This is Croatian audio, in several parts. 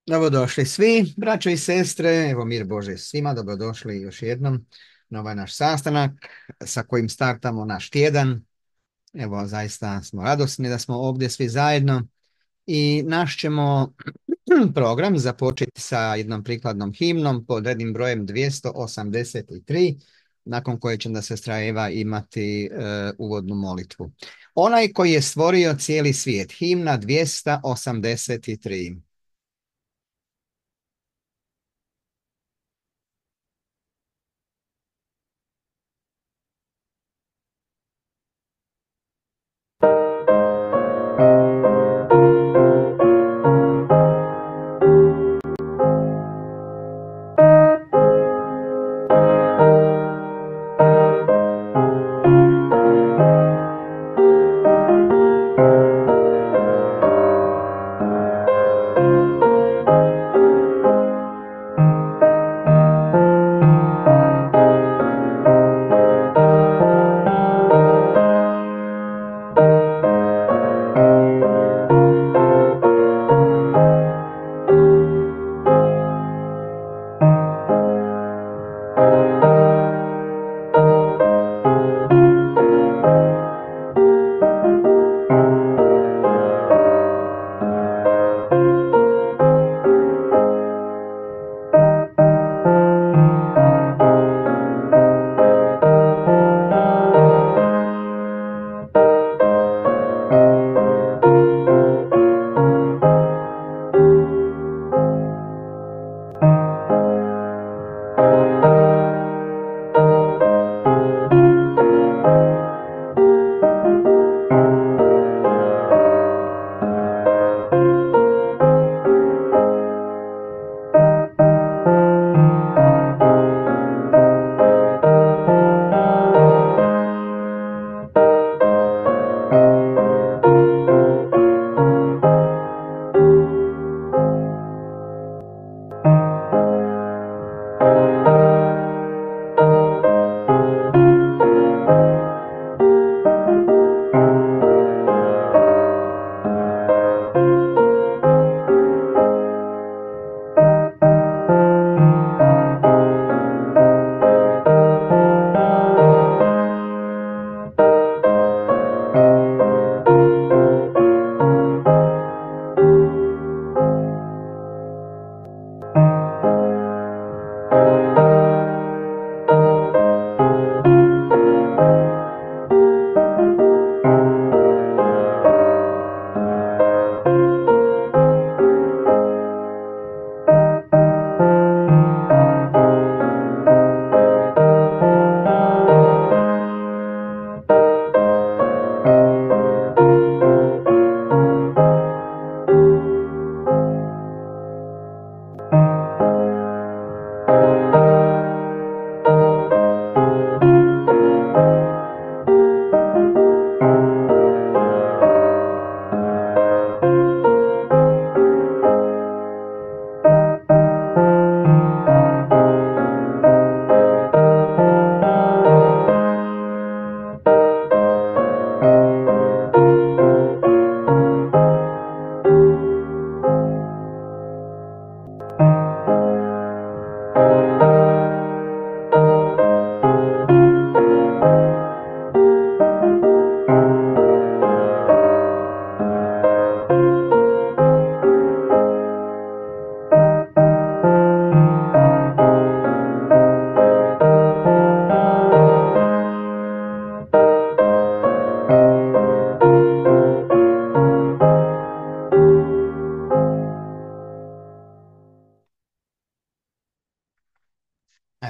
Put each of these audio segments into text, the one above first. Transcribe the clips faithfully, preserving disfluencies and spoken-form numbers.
Dobrodošli svi, braćo i sestre, evo mir Bože svima, dobrodošli još jednom na ovaj naš sastanak sa kojim startamo naš tjedan. Evo, zaista smo radosni da smo ovdje svi zajedno i naš ćemo program započeti sa jednom prikladnom himnom pod rednim brojem dvjesto osamdeset tri, nakon koje će da sestra Eva imati e, uvodnu molitvu. Onaj koji je stvorio cijeli svijet, himna dvjesto osamdeset tri.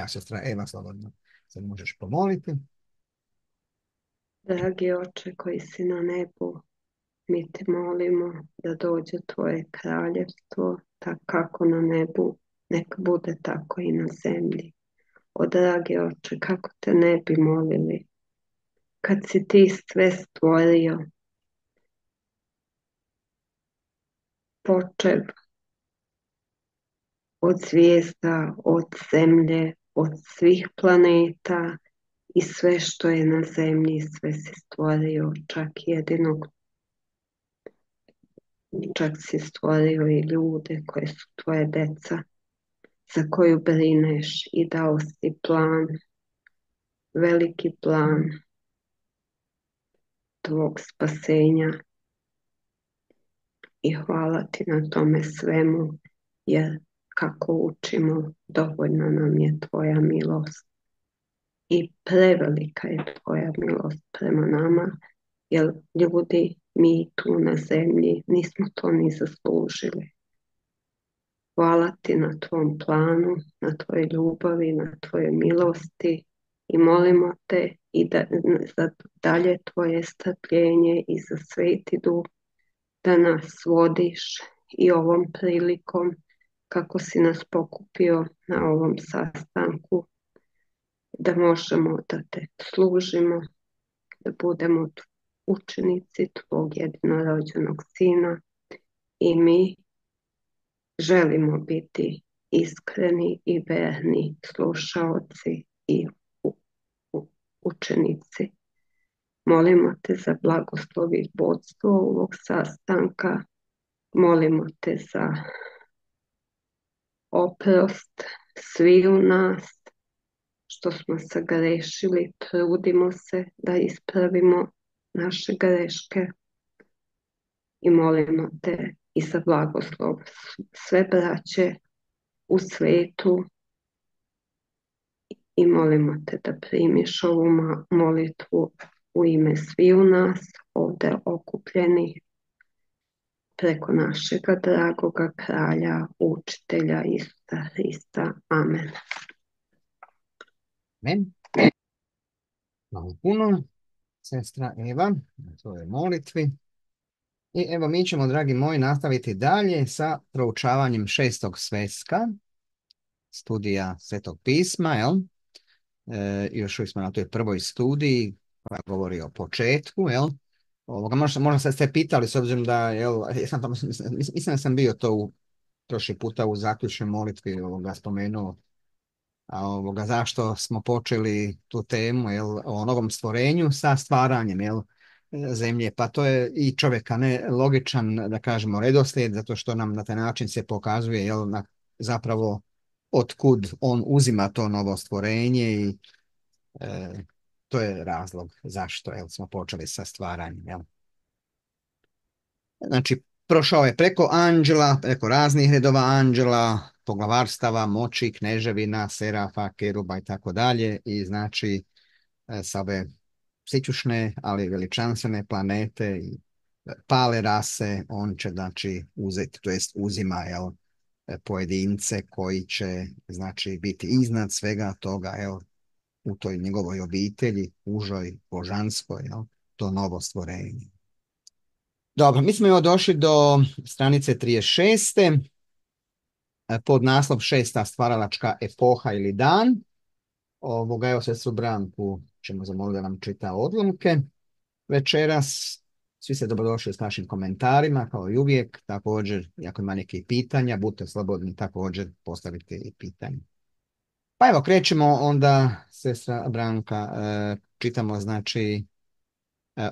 Evo, sestra Eva, slobodno se možeš pomoliti. Dragi Oče koji si na nebu, mi te molimo da dođe tvoje kraljevstvo, tako kako na nebu, nek bude tako i na zemlji. O dragi Oče, kako te ne bi molili, kad si ti sve stvorio, počev od zvijezda, od zemlje, od svih planeta i sve što je na zemlji, sve si stvorio, čak jedinog čak si stvorio i ljude koje su tvoje deca, za koju brineš i dao si plan, veliki plan tvog spasenja i hvala ti na tome svemu, jer kako učimo, dovoljna nam je tvoja milost i prevelika je tvoja milost prema nama, jer ljudi, mi tu na zemlji nismo to ni zaslužili. Hvala ti na tvom planu, na tvojoj ljubavi, na tvojoj milosti i molimo te i da, za dalje tvoje strpljenje i za Sveti Duh da nas vodiš i ovom prilikom kako si nas pokupio na ovom sastanku, da možemo da te služimo, da budemo učenici tvog jedinorođenog Sina i mi želimo biti iskreni i verni slušaoci i u, u, učenici. Molimo te za blagoslov i vodstvo ovog sastanka. Molimo te za oprost svi u nas što smo sagrešili. Trudimo se da ispravimo naše greške i molimo te i za blagoslov sve braće u svetu i molimo te da primiš ovu molitvu u ime sviju nas ovdje okupljenih preko našega dragoga kralja, učitelja Isusa Hrista. Amen. Amen. Hvala puno, sestra Eva, na tvojoj molitvi. I evo mi ćemo, dragi moji, nastaviti dalje sa proučavanjem šestog sveska, studija Svetog pisma, jel? E, još uvijek smo na toj prvoj studiji koja govori o početku, jel? Ovoga, možda, možda ste se pitali, s obzirom da, jel, ja sam, mislim, mislim da sam bio to u, prošli puta u zaključnoj molitvi ovoga spomenuo, a ovoga, zašto smo počeli tu temu, jel, o novom stvorenju sa stvaranjem, jel, zemlje, pa to je i čovjeka ne logičan, da kažemo, redoslijed, zato što nam na taj način se pokazuje, jel, na, zapravo otkud on uzima to novo stvorenje i e, to je razlog zašto, jel, smo počeli sa stvaranjem, jel. Znači, prošao je preko anđela, preko raznih redova anđela, poglavarstava, moći, kneževina, serafa, keruba i tako dalje i znači sa ove sićušne, ali veličanstvene planete i pale rase, on će znači uzeti, to jest uzima, jel, pojedince koji će znači biti iznad svega toga, jel, u toj njegovoj obitelji, užoj, božanskoj, jel, to novo stvorenje. Dobro, mi smo evo došli do stranice trideset šest. Pod naslov šesta stvaralačka epoha ili dan. Ovoga, evo sestru Branku ćemo zamoliti da nam čita odlomke večeras. Svi ste dobrodošli s našim komentarima, kao i uvijek. Također, ako ima nekih pitanja, budite slobodni također postaviti i pitanje. Pa evo, krećemo onda, sestra Branka, čitamo znači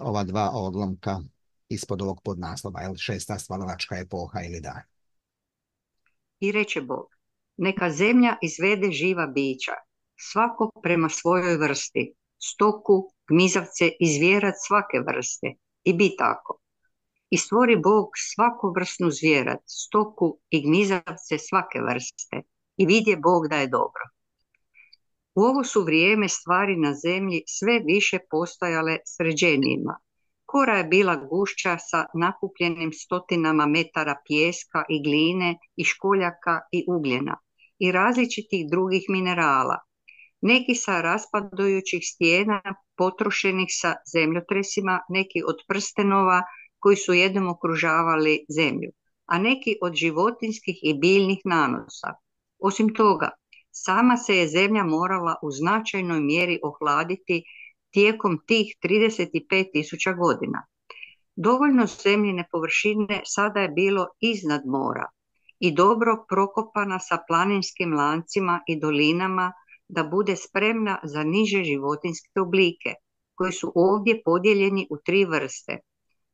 ova dva odlomka ispod ovog podnaslova, jel, šesta stvaralačka epoha ili dan. I reče Bog, neka zemlja izvede živa bića, svako prema svojoj vrsti, stoku, gmizavce i zvijerac svake vrste, i bi tako. I stvori Bog svaku vrstnu zvijerac, stoku i gmizavce svake vrste, i vidje Bog da je dobro. U ovo su vrijeme stvari na zemlji sve više postajale sređenijima. Kora je bila gušća sa nakupljenim stotinama metara pijeska i gline i školjaka i ugljena i različitih drugih minerala, neki sa raspadajućih stijena potrošenih sa zemljotresima, neki od prstenova koji su jednom okružavali zemlju, a neki od životinskih i biljnih nanosa. Osim toga, sama se je zemlja morala u značajnoj mjeri ohladiti tijekom tih trideset pet tisuća godina. Dovoljno zemljine površine sada je bilo iznad mora i dobro prokopana sa planinskim lancima i dolinama da bude spremna za niže životinjske oblike, koji su ovdje podijeljeni u tri vrste.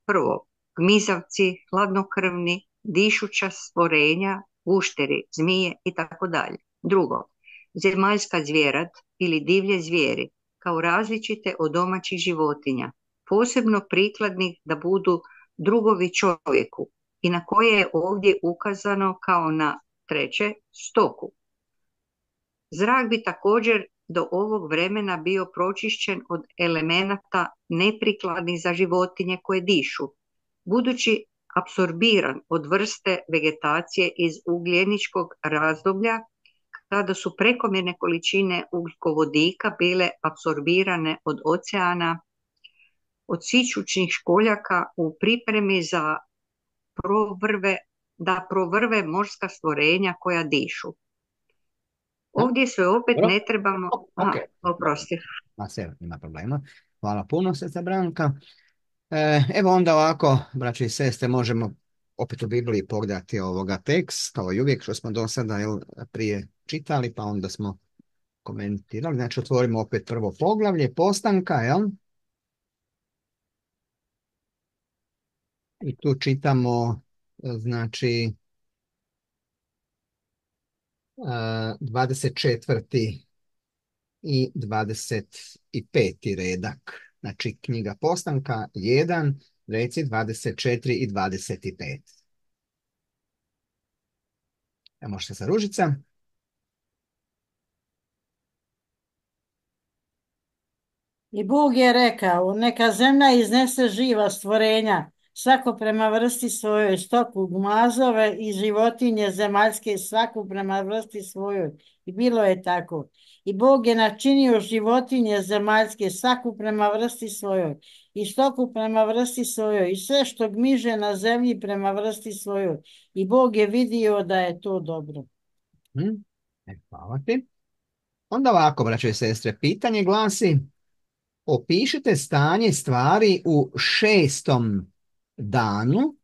Prvo, gmizavci, hladnokrvni, dišuća stvorenja, gušteri, zmije i tako dalje. Drugo, zemaljska zvjerat ili divlje zvijeri kao različite od domaćih životinja, posebno prikladnih da budu drugovi čovjeku i na koje je ovdje ukazano kao na treće stoku. Zrak bi također do ovog vremena bio pročišćen od elemenata neprikladnih za životinje koje dišu, budući apsorbiran od vrste vegetacije iz ugljeničkog razdoblja kada su prekomjerne količine ugljikovodika bile apsorbirane od oceana, od sićućnih školjaka u pripremi za provrve, da provrve morska stvorenja koja dišu. Ovdje se opet Dobro. ne trebamo... Ok. Aha, oprosti. Ma sve, nema problema. Hvala puno, sestra Branka. E, evo onda ovako, braće i sestre, možemo opet u Bibliji pogledati ovoga tekst, kao i uvijek što smo do sada jel, prije čitali, pa onda smo komentirali. Znači, otvorimo opet prvo poglavlje, postanka, jel? I tu čitamo, znači, dvadeset četvrti i dvadeset peti redak. Znači, knjiga Postanka jedan, reci dvadeset četiri i dvadeset pet. Evo možete sa Ružica. I Bog je rekao, neka zemlja iznese živa stvorenja, svako prema vrsti svojoj, stoku, gmazove i životinje zemaljske, svaku prema vrsti svojoj. I bilo je tako. I Bog je načinio životinje zemaljske, svaku prema vrsti svojoj, i stoku prema vrsti svojoj, i sve što gmiže na zemlji prema vrsti svojoj. I Bog je vidio da je to dobro. Hmm. E, hvala ti. Onda ovako, braćo i sestre, pitanje glasi: opišite stanje stvari u šestom danu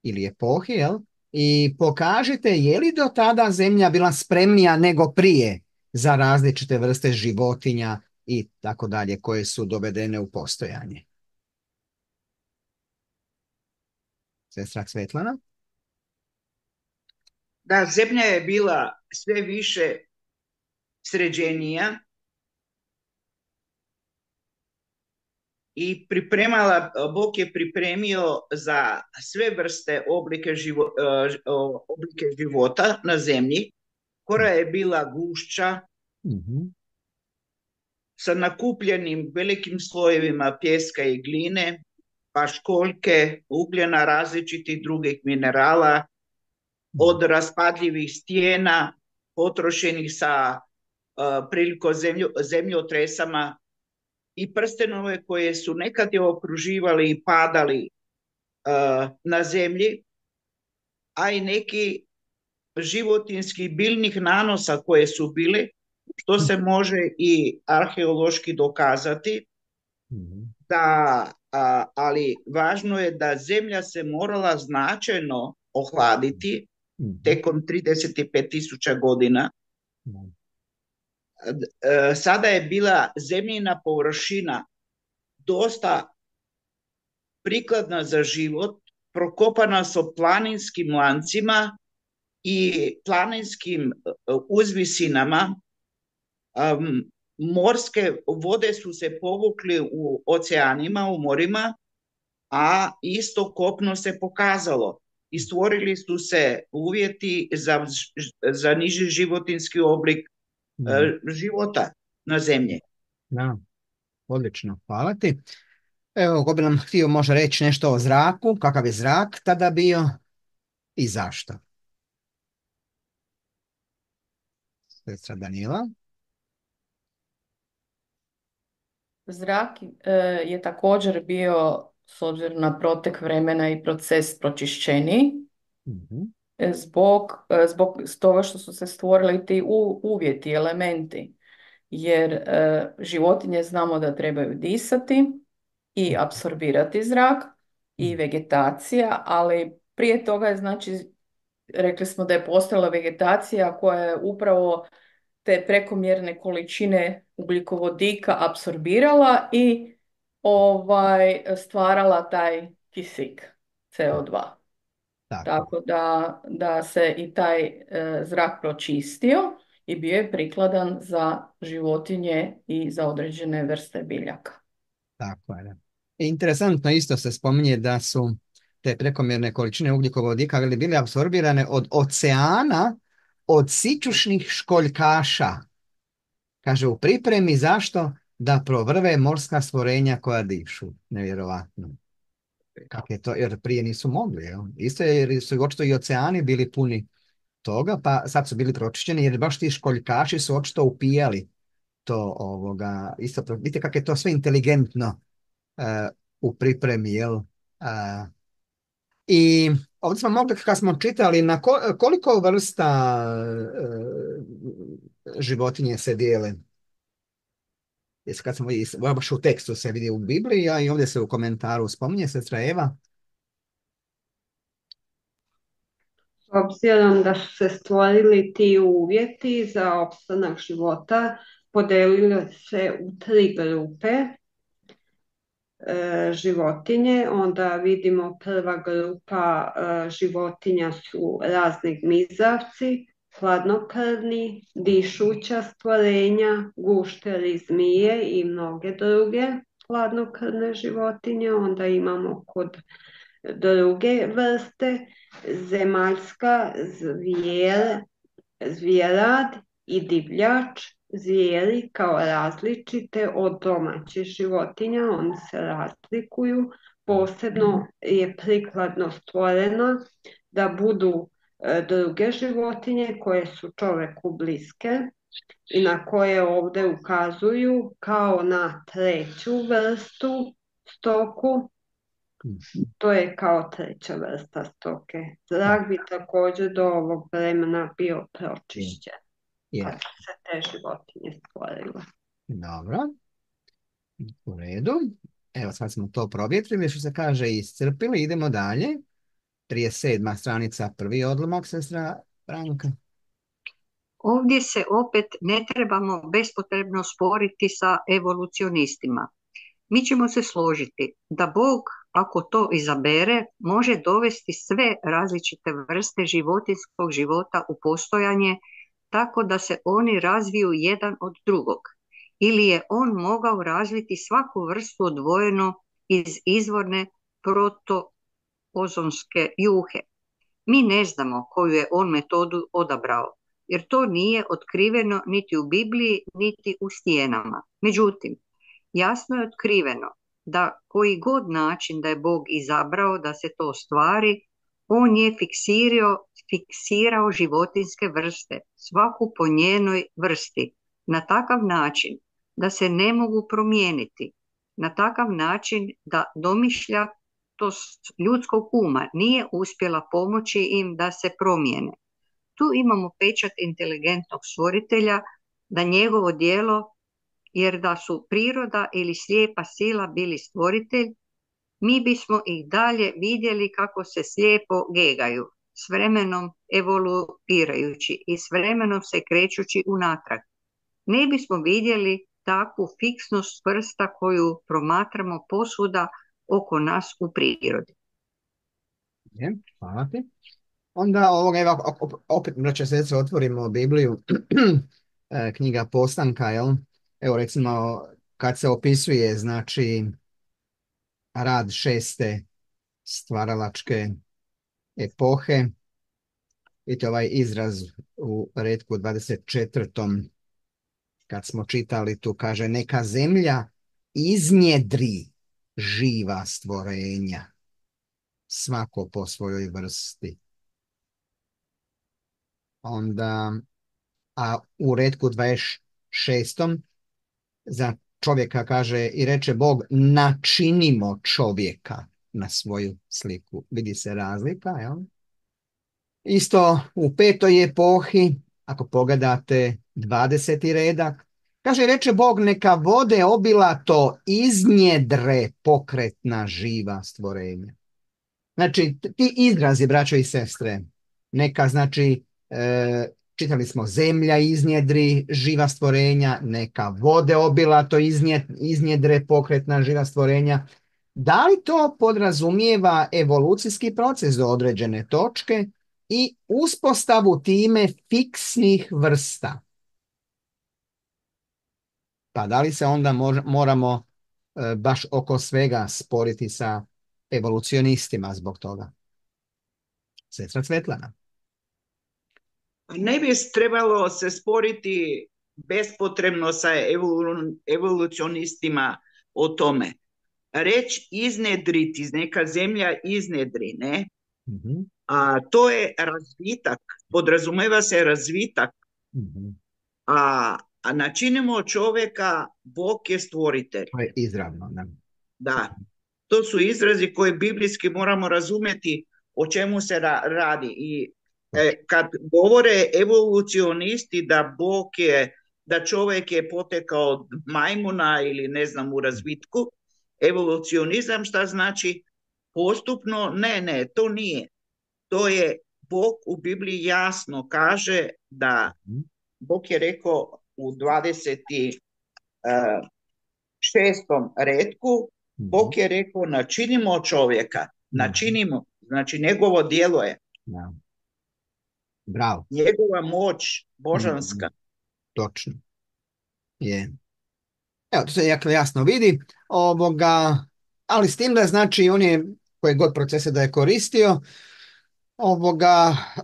ili epohi, jel? I pokažite je li do tada zemlja bila spremnija nego prije za različite vrste životinja i tako dalje koje su dovedene u postojanje. Sestra Svetlana? Da, zemlja je bila sve više sređenija i pripremala, Bog je pripremio za sve vrste oblike, živo, oblike života na zemlji. Kora je bila gušća, mm-hmm. sa nakupljenim velikim slojevima pjeska i gline, pa školjke, ugljena, različitih drugih minerala, mm-hmm. od raspadljivih stijena, potrošenih sa uh, prilikom zemljo, zemljotresama, i prstenove koje su nekad je okruživali i padali uh, na zemlji, a i neki životinskih biljnih nanosa koje su bili, što se može i arheološki dokazati, mm-hmm. da, a, ali važno je da zemlja se morala značajno ohladiti mm-hmm. tekom trideset pet tisuća godina. Mm-hmm. Sada je bila zemljina površina dosta prikladna za život, prokopana sa planinskim lancima i planinskim uzvisinama. Um, morske vode su se povukli u oceanima, u morima, a isto kopno se pokazalo i stvorili su se uvjeti za, za niži životinski oblik mm. života na zemlji. Da, odlično, hvala ti. Evo, ko bi nam htio može reći nešto o zraku, kakav je zrak tada bio i zašto? Sestra Danila. Zrak je također bio, s obzirom na protek vremena i proces, pročišćeniji, mm-hmm. zbog, zbog toga što su se stvorili ti u, uvjeti, elementi, jer e, životinje znamo da trebaju disati i apsorbirati zrak i vegetacija, ali prije toga je, znači, rekli smo da je postojala vegetacija koja je upravo te prekomjerne količine ugljikovodika apsorbirala i ovaj, stvarala taj kisik, C O dva. Tako. Tako da, da se i taj e, zrak pročistio i bio je prikladan za životinje i za određene vrste biljaka. Tako je. Da. Interesantno isto se spominje da su te prekomjerne količine ugljikovodika ali bile apsorbirane od oceana, od sićušnih školjkaša. Kaže u pripremi zašto? Da provrve morska stvorenja koja dišu. Nevjerovatno. Kako je to? Jer prije nisu mogli. Jel? Isto je jer su očito i oceani bili puni toga, pa sad su bili pročišćeni jer baš ti školjkaši su očito upijali to ovoga. Isto, vidite kako je to sve inteligentno uh, u pripremi, jel? Uh, I ovdje smo mogli, kad smo čitali, na ko, koliko vrsta uh, životinje se dijele? Jesi kad smo baš u tekstu se vidi u Bibliji, a i ovdje se u komentaru spominje sestra Eva. S obzirom da su se stvorili ti uvjeti za opstanak života, podelili se u tri grupe e, životinje. Onda vidimo prva grupa e, životinja su razni gmizavci, hladnokrvni, dišuća stvorenja, gušteri, zmije i mnoge druge hladnokrvne životinje. Onda imamo kod druge vrste zemaljska zvjer, zvjerad i divljač, zvijeri kao različite od domaćih životinja, oni se razlikuju. Posebno je prikladno stvoreno da budu druge životinje koje su čoveku bliske i na koje ovdje ukazuju kao na treću vrstu stoku. To je kao treća vrsta stoke. Zrak bi također do ovog vremena bio pročišćen. Yeah. Kad su se te životinje stvorile. Dobro. U redu. Evo sad smo to provjetrili, što se kaže iscrpili. Idemo dalje. trideset sedma stranica, prvi odlomak, sestra Branka. Ovdje se opet ne trebamo bespotrebno sporiti sa evolucionistima. Mi ćemo se složiti da Bog, ako to izabere, može dovesti sve različite vrste životinjskog života u postojanje tako da se oni razviju jedan od drugog. Ili je on mogao razviti svaku vrstu odvojeno iz izvorne protoozonske juhe. Mi ne znamo koju je on metodu odabrao, jer to nije otkriveno niti u Bibliji, niti u stijenama. Međutim, jasno je otkriveno da koji god način da je Bog izabrao da se to ostvari, on je fiksirao, fiksirao životinjske vrste, svaku po njenoj vrsti, na takav način da se ne mogu promijeniti, na takav način da domišljatost ljudskog uma nije uspjela pomoći im da se promijene. Tu imamo pečat inteligentnog stvoritelja da njegovo djelo, jer da su priroda ili slijepa sila bili stvoritelj, mi bismo ih dalje vidjeli kako se slijepo gegaju, s vremenom evoluirajući i s vremenom se krećući unatrag. Ne bismo vidjeli takvu fiksnost vrsta koju promatramo posvuda oko nas u prirodi. Je, hvala ti. Onda ovoga, evo, opet, braća sestre, otvorimo Bibliju, knjiga Postanka, jel? Evo recimo kad se opisuje znači rad šeste stvaralačke epohe, vidite ovaj izraz u retku dvadeset četvrtom kad smo čitali tu, kaže neka zemlja iznjedri živa stvorenja, svako po svojoj vrsti. Onda, a u retku dvadeset šestom za čovjeka kaže i reče Bog načinimo čovjeka na svoju sliku. Vidi se razlika, jel? Isto u petoj epohi, ako pogledate dvadeseti redak, kaže reče Bog neka vode obilato iznjedre pokretna živa stvorenja. Znači ti izrazi, braćo i sestre, neka znači e, čitali smo zemlja iznjedri živa stvorenja, neka vode obilato iznjedre pokretna živa stvorenja. Da li to podrazumijeva evolucijski proces do određene točke i uspostavu time fiksnih vrsta? Pa da li se onda mož- moramo e, baš oko svega sporiti sa evolucionistima zbog toga? Sestra Svetlana. Ne bi trebalo se sporiti bespotrebno sa evolu- evolucionistima o tome. Reč iznedriti, neka zemlja iznedri, ne? Mhm, A to je razvitak, podrazumeva se razvitak, mhm. a, a načinimo čovjeka, Bog je stvoritelj. To je izravno. Da. Da, to su izrazi koje biblijski moramo razumjeti o čemu se ra- radi. I e, kad govore evolucionisti da Bog je, da čovjek je potekao od majmuna ili ne znam u razvitku, evolucionizam šta znači? Postupno, ne, ne, to nije. To je, Bog u Bibliji jasno kaže da Mhm, Bog je rekao u dvadeset šestom redku, mhm, Bog je rekao načinimo čovjeka, mhm. načinimo, znači njegovo djelo je, Da. Bravo. njegova moć Mhm, božanska. točno. Je. Evo, to se jako jasno vidi, ovoga, ali s tim da znači on je, koje god procese da je koristio, ovoga, eh,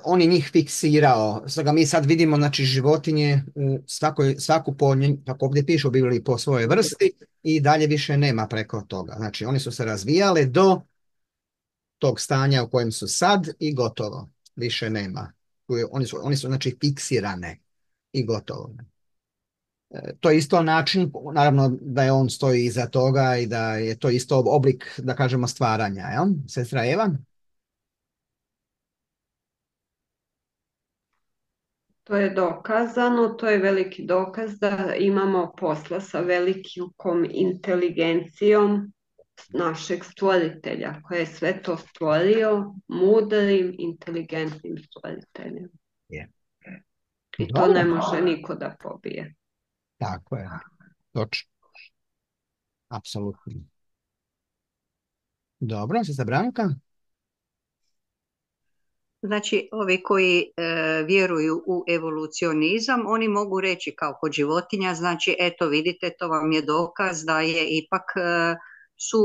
on je njih fiksirao. Stoga mi sad vidimo, znači, životinje u svakoj, svaku po, nje- kako ovdje piše u Bibliji, po svojoj vrsti i dalje više nema preko toga. Znači, oni su se razvijale do tog stanja u kojem su sad i gotovo. Više nema. Tu je- Oni su, oni su, znači, fiksirane i gotovo. To je isto način, naravno da je on stoji iza toga i da je to isto oblik, da kažemo, stvaranja, jel? Sestra Eva? To je dokazano, to je veliki dokaz da imamo posla sa velikom inteligencijom našeg stvoritelja, koji je sve to stvorio, mudrim, inteligentnim stvoriteljem. Je. I to ne Dobro. može niko da pobije. Tako je. Točno. Apsolutno. Dobro, sestra Branka? Znači, ovi koji e, vjeruju u evolucionizam, oni mogu reći kao kod životinja, znači, eto vidite, to vam je dokaz da je ipak e, su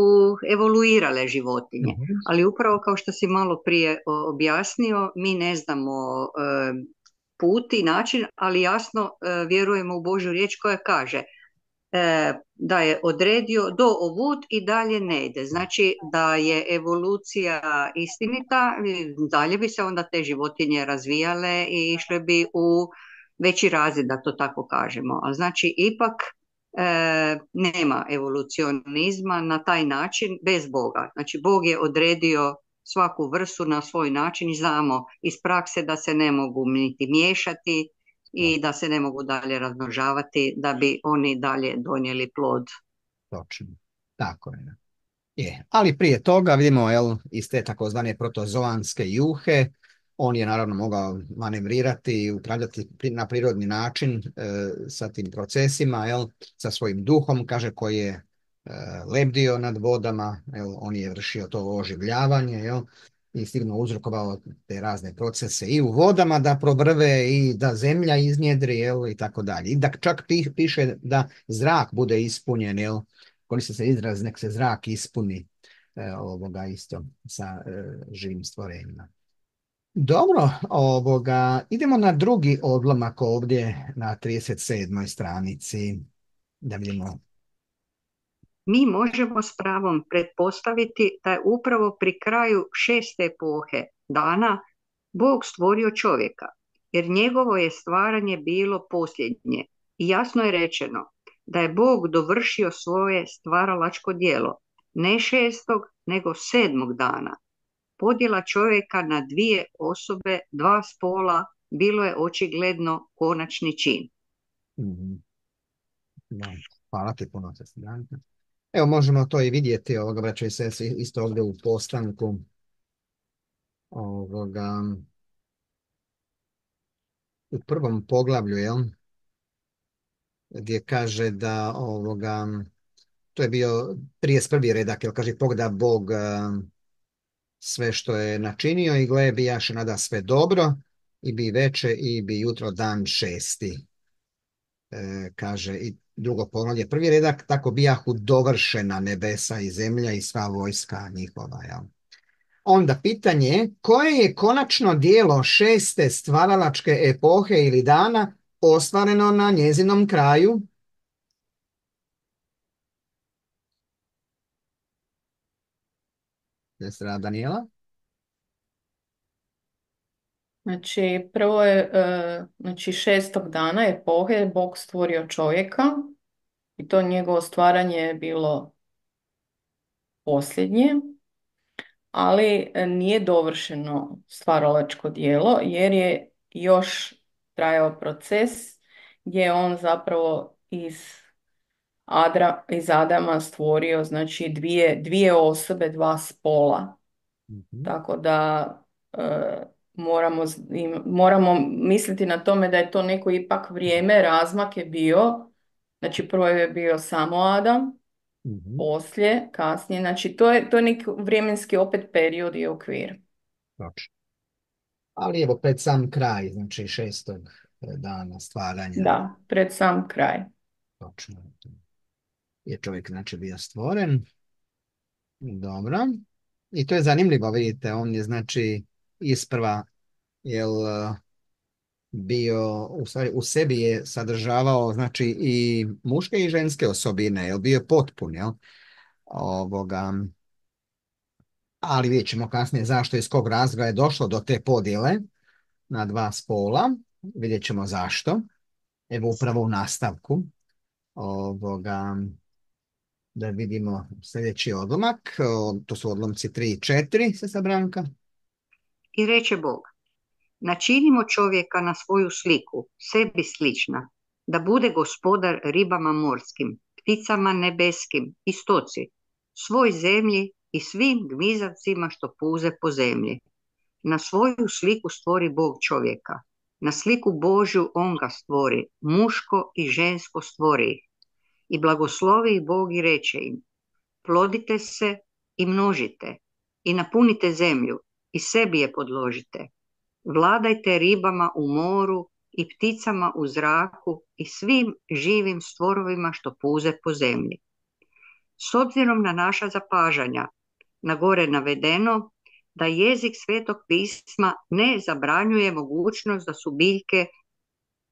evoluirale životinje. Mhm. Ali upravo kao što si malo prije o, objasnio, mi ne znamo e, put i način, ali jasno e, vjerujemo u Božju riječ koja kaže e, da je odredio do ovud i dalje ne ide. Znači da je evolucija istinita, dalje bi se onda te životinje razvijale i išle bi u veći razred, da to tako kažemo. A znači ipak e, nema evolucionizma na taj način bez Boga. Znači Bog je odredio svaku vrstu na svoj način i znamo iz prakse da se ne mogu niti miješati i da se ne mogu dalje razmnožavati da bi oni dalje donijeli plod. Točno. Tako je. Je. Ali prije toga vidimo, jel, iz te takozvane protozoanske juhe, on je naravno mogao manevrirati i upravljati pri- na prirodni način e, sa tim procesima, jel, sa svojim duhom, kaže, koji je e, lebdio nad vodama, jel, on je vršio to oživljavanje, jel, i sigurno uzrokovao te razne procese i u vodama da probrve i da zemlja iznjedri, jel, i tako dalje. I da čak pi- piše da zrak bude ispunjen, jel, koristi se izraz nek se zrak ispuni e, ovoga isto sa e, živim stvorenjima. Dobro, ovoga, idemo na drugi odlomak ovdje na trideset sedmoj stranici. Da vidimo. Mi možemo s pravom pretpostaviti da je upravo pri kraju šeste epohe dana Bog stvorio čovjeka, jer njegovo je stvaranje bilo posljednje. I jasno je rečeno da je Bog dovršio svoje stvaralačko djelo, ne šestog, nego sedmog dana. Podjela čovjeka na dvije osobe, dva spola, bilo je očigledno konačni čin. Mhm. Da, hvala ti puno, sestra Branka. Evo, možemo to i vidjeti, ovoga, braćo i sestre, isto ovdje u postanku ovoga, u prvom poglavlju, jel, gdje kaže da ovoga, to je bio trideset prvi redak, jer kaže pogleda Bog sve što je načinio i gle bijaše nada sve dobro i bi veče i bi jutro dan šesti. E, kaže i drugo poglavlje, prvi redak, tako bijahu dovršena nebesa i zemlja i sva vojska njihova. Jel? Onda pitanje je, koje je konačno dijelo šeste stvaralačke epohe ili dana ostvareno na njezinom kraju? Sestra Daniela? Znači, prvo je, e, znači šestog dana epohe Bog stvorio čovjeka i to njegovo stvaranje je bilo posljednje, ali nije dovršeno stvaralačko djelo jer je još trajao proces gdje je on zapravo iz, Adra, iz Adama stvorio znači dvije, dvije osobe, dva spola. Mhm. Tako da e, moramo, z- im- moramo misliti na tome da je to neko ipak vrijeme, razmak je bio, znači prvo je bio samo Adam, Mhm. poslije, kasnije, znači to je, to je neki vremenski opet period i okvir. Točno. Ali evo pred sam kraj, znači šestog dana stvaranja. Da, pred sam kraj. Točno. Je čovjek znači bio stvoren. Dobro. I to je zanimljivo, vidite, on je znači isprva jel bio, u stvari u sebi je sadržavao znači i muške i ženske osobine, jel bio je potpun, jel? Ovoga, ali vidjet ćemo kasnije zašto i iz kog razloga je došlo do te podjele na dva spola. Vidjet ćemo zašto. Evo upravo u nastavku ovoga, da vidimo sljedeći odlomak. O, to su odlomci tri i četiri, sestra Branka. I reče Bog, načinimo čovjeka na svoju sliku, sebi slična, da bude gospodar ribama morskim, pticama nebeskim i stoci, svoj zemlji i svim gmizavcima što puze po zemlji. Na svoju sliku stvori Bog čovjeka, na sliku Božju on ga stvori, muško i žensko stvori ih. I blagoslovi ih Bog i reče im, plodite se i množite i napunite zemlju i sebi je podložite. Vladajte ribama u moru i pticama u zraku i svim živim stvorovima što puze po zemlji. S obzirom na naša zapažanja, na gore navedeno, da jezik Svetog pisma ne zabranjuje mogućnost da su biljke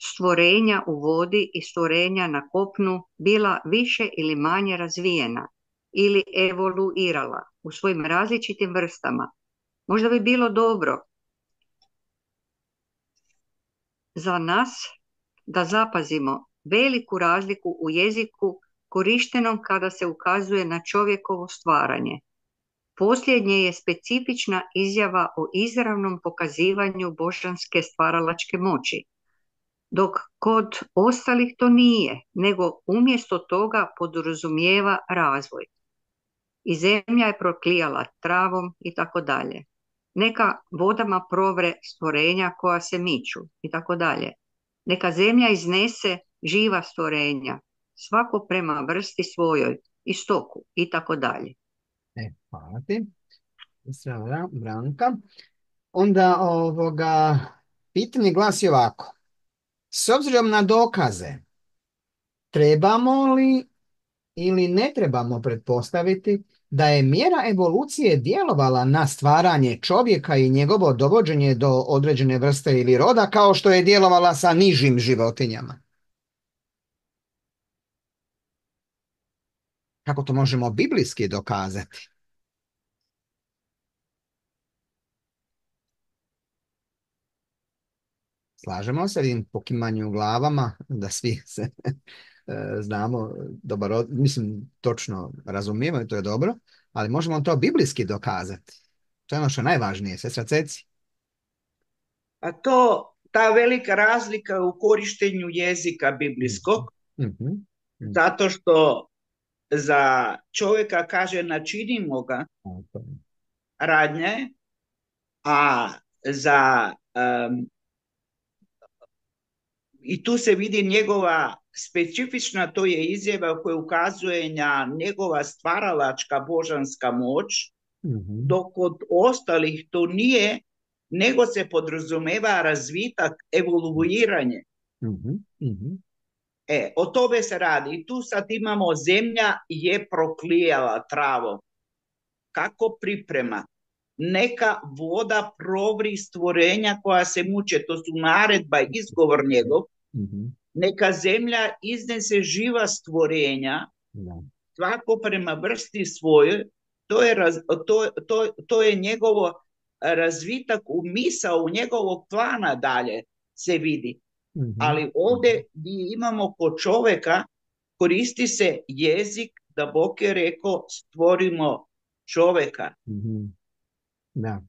stvorenja u vodi i stvorenja na kopnu bila više ili manje razvijena ili evoluirala u svojim različitim vrstama. Možda bi bilo dobro za nas da zapazimo veliku razliku u jeziku korištenom kada se ukazuje na čovjekovo stvaranje. Posljednje je specifična izjava o izravnom pokazivanju božanske stvaralačke moći, dok kod ostalih to nije, nego umjesto toga podrazumijeva razvoj. I zemlja je proklijala travom i tako dalje. Neka vodama provre stvorenja koja se miču i tako dalje. Neka zemlja iznese živa stvorenja, svako prema vrsti svojoj i stoku i tako dalje. E, hvala ti. Sestra Bra- Branka. Onda ovoga, pitanje glasi ovako. S obzirom na dokaze, trebamo li ili ne trebamo pretpostaviti da je mjera evolucije djelovala na stvaranje čovjeka i njegovo dovođenje do određene vrste ili roda kao što je djelovala sa nižim životinjama? Kako to možemo biblijski dokazati? Slažemo se, vidim po kimanju glavama da svi se e, znamo, dobar, od- mislim, točno razumijemo i to je dobro, ali možemo to biblijski dokazati. To je ono što je najvažnije, sestra Ceci. A to, ta velika razlika u korištenju jezika biblijskog, Mhm, mhm, zato što za čovjeka kaže načinimo ga tako. radnje, a za um, i tu se vidi njegova specifična to je izjava koja ukazuje na njegova stvaralačka božanska moć, Mhm. dok kod ostalih to nije, nego se podrazumeva razvitak, evoluiranje. Mhm. Mhm. E, o tome se radi. I tu sad imamo zemlja je proklijala travo. Kako priprema? Neka voda provri stvorenja koja se muče, to su naredba, izgovor njegov. Mhm. Neka zemlja iznese živa stvorenja, Da. svako prema vrsti svojoj, to je, raz, to, to, to je njegovo razvitak u misao, u njegovog plana dalje se vidi. Mhm. Ali ovdje gdje imamo kod čovjeka, koristi se jezik da Bog je rekao stvorimo čovjeka. Mhm. Da.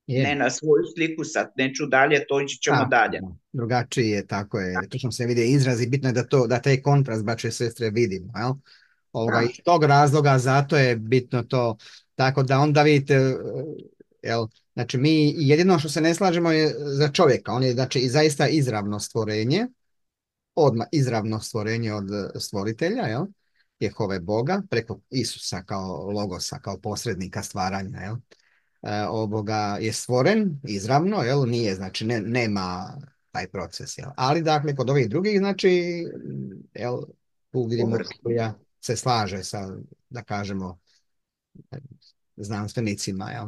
Ne Je. na svoju sliku, sad neću dalje, toći ćemo Da, dalje. da. Drugačiji je, tako je. Točno se vidi izraz i bitno je da, to, da taj kontrast, braće i sestre, vidimo. Jel? Ovoga, Da. iz tog razloga zato je bitno to. Tako da onda vidite, eh, jel, znači mi jedino što se ne slažemo je za čovjeka. On je znači i zaista izravno stvorenje, odmah izravno stvorenje od eh, stvoritelja, jel? Jehove Boga, preko Isusa kao logosa, kao posrednika stvaranja, jel? E, ovoga je stvoren izravno, jel? Nije, znači ne, nema taj proces, jel? Ali dakle kod ovih drugih, znači, jel, tu vidimo Biblija se slaže sa, da kažemo, znanstvenicima, jel?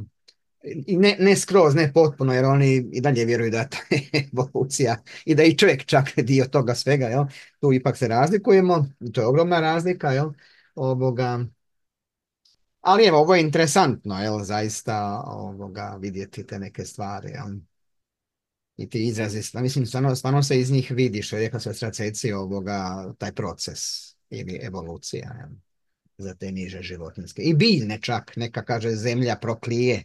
I ne, ne skroz, ne potpuno, jer oni i dalje vjeruju da je ta evolucija i da i čovjek čak dio toga svega, jel? Tu ipak se razlikujemo, to je ogromna razlika, jel? Ovoga, ali evo, ovo je interesantno, jel, zaista ovoga, vidjeti te neke stvari, jel? I ti izrazi, sta- mislim, stvarno, stvarno se iz njih vidi, što je rekla sestra Ceci, ovoga, taj proces ili evolucija, jel, za te niže životinjske. I biljne čak, neka kaže zemlja proklije,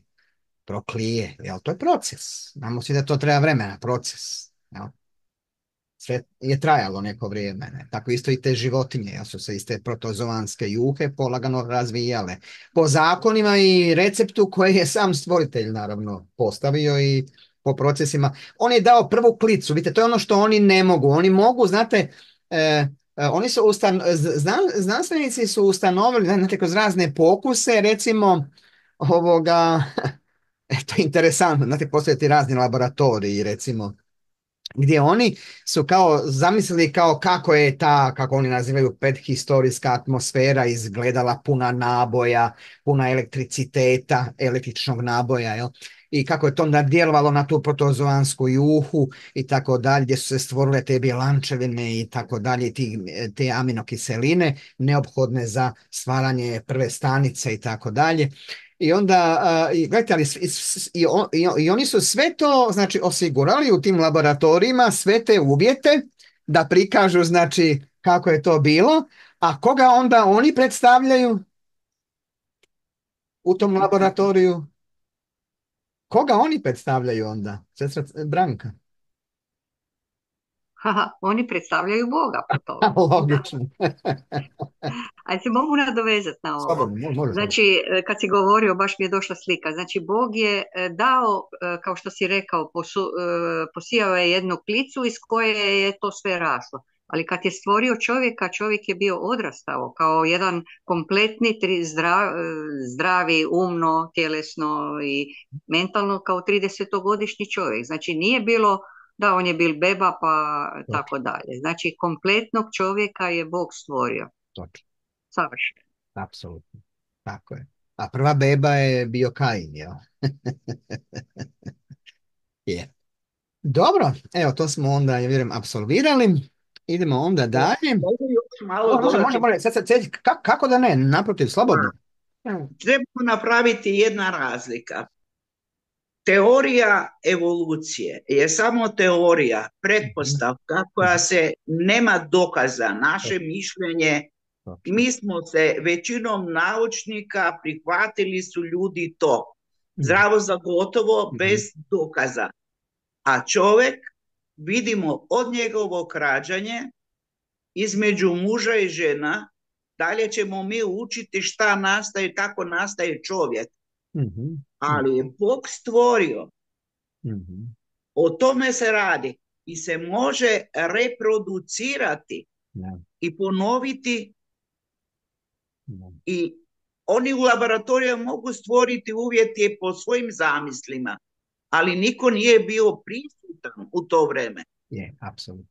proklije, jel, to je proces. Znamo svi da to treba vremena, proces, jel. Sve je trajalo neko vrijeme, ne? Tako isto i te životinje, jel su se iz te protozovanske juhe polagano razvijale. Po zakonima i receptu koje je sam stvoritelj naravno postavio i po procesima. On je dao prvu klicu, vidite, to je ono što oni ne mogu. Oni mogu, znate, e, e, oni su ustan, znan, znanstvenici su ustanovili, znate, kroz razne pokuse, recimo, ovoga, to je interesantno, znate, postoje ti razni laboratoriji, recimo, gdje oni su kao zamislili kao kako je ta, kako oni nazivaju, predhistorijska atmosfera izgledala, puna naboja, puna elektriciteta, električnog naboja, jel? I kako je to onda djelovalo na tu protozoansku juhu i tako dalje, gdje su se stvorile te bjelančevine i tako dalje, ti, te aminokiseline neophodne za stvaranje prve stanice i tako dalje. I onda, uh, i, gledajte, ali, i, i, i, i oni su sve to, znači, osigurali u tim laboratorijima, sve te uvjete da prikažu, znači, kako je to bilo, a koga onda oni predstavljaju u tom laboratoriju? Koga oni predstavljaju onda? Sestra Branka. Haha, oni predstavljaju Boga po tome. Logično. Ajde se mogu nadovezati na ovo. Slobodno, mo- može Znači, e, kad si govorio, baš mi je došla slika. Znači, Bog je e, dao, e, kao što si rekao, posu, e, posijao je jednu klicu iz koje je to sve raslo. Ali kad je stvorio čovjeka, čovjek je bio odrastao kao jedan kompletni, tri, zdrav, e, zdravi, umno, tjelesno i mentalno kao tridesetogodišnji čovjek. Znači, nije bilo da on je bil beba pa tako dalje. Znači, kompletnog čovjeka je Bog stvorio. Točno, Savršeno. apsolutno. Tako je. A prva beba je bio Kain, jel? Je. Dobro, evo to smo onda, ja vjerujem, apsolvirali. Idemo onda dalje. Mogu još malo Može, može, dodati? može. Sad, sad, sad, ka- kako da ne? Naprotiv, slobodno. Trebamo napraviti jedna razlika. Teorija evolucije je samo teorija, pretpostavka koja se nema dokaza, naše mišljenje. Mi smo se većinom naučnika prihvatili su ljudi to. Zdravo za gotovo, bez dokaza. A čovjek, vidimo od njegovog rađanja, između muža i žena, dalje ćemo mi učiti šta nastaje, kako nastaje čovjek. Mhm. Ali je Bog stvorio. Mhm. O tome se radi i se može reproducirati. Da, i ponoviti da. i oni u laboratoriju mogu stvoriti uvjete po svojim zamislima, ali niko nije bio prisutan u to vreme. Je, apsolutno.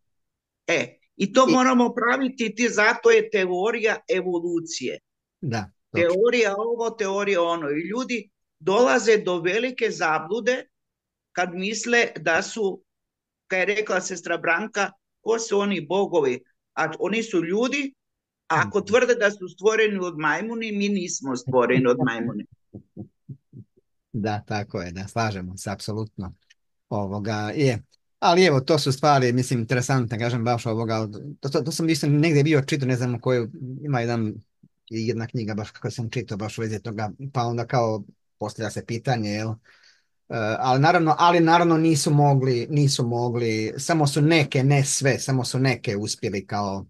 E, i to I- moramo praviti, ti, zato je teorija evolucije. Da, točno. Teorija ovo, teorija ono. I ljudi dolaze do velike zablude kad misle da su, kad je rekla sestra Branka, ko su oni bogovi? A oni su ljudi, a ako tvrde da su stvoreni od majmuni, mi nismo stvoreni od majmuni. Da, tako je, da, slažemo se, apsolutno. Ovoga, je. Ali evo, to su stvari, mislim, interesantne, kažem, baš ovoga, to, to, to sam isto negdje bio čitao, ne znam koju, ima jedan, jedna knjiga baš kako sam čitao, baš u vezi toga, pa onda kao postavlja se pitanje, jel, Uh, ali naravno, ali naravno nisu mogli, nisu mogli, samo su neke, ne sve, samo su neke uspjeli kao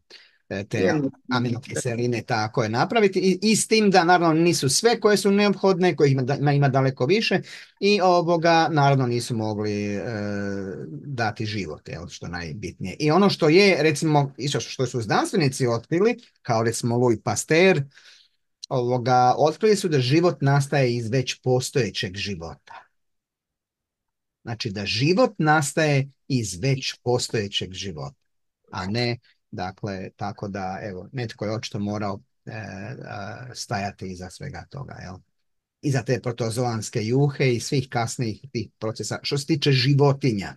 e, te Jedno. aminokiseline tako je napraviti i, i s tim da naravno nisu sve koje su neophodne, kojih ima, ima, ima daleko više i ovoga naravno nisu mogli e, dati život, jel, što najbitnije. I ono što je, recimo, isto što su znanstvenici otkrili, kao recimo Louis Pasteur, ovoga, otkrili su da život nastaje iz već postojećeg života. Znači da život nastaje iz već postojećeg života, a ne, dakle, tako da, evo, netko je očito morao e, a, stajati iza svega toga, jel? Iza te protozoanske juhe i svih kasnijih tih procesa, što se tiče životinja.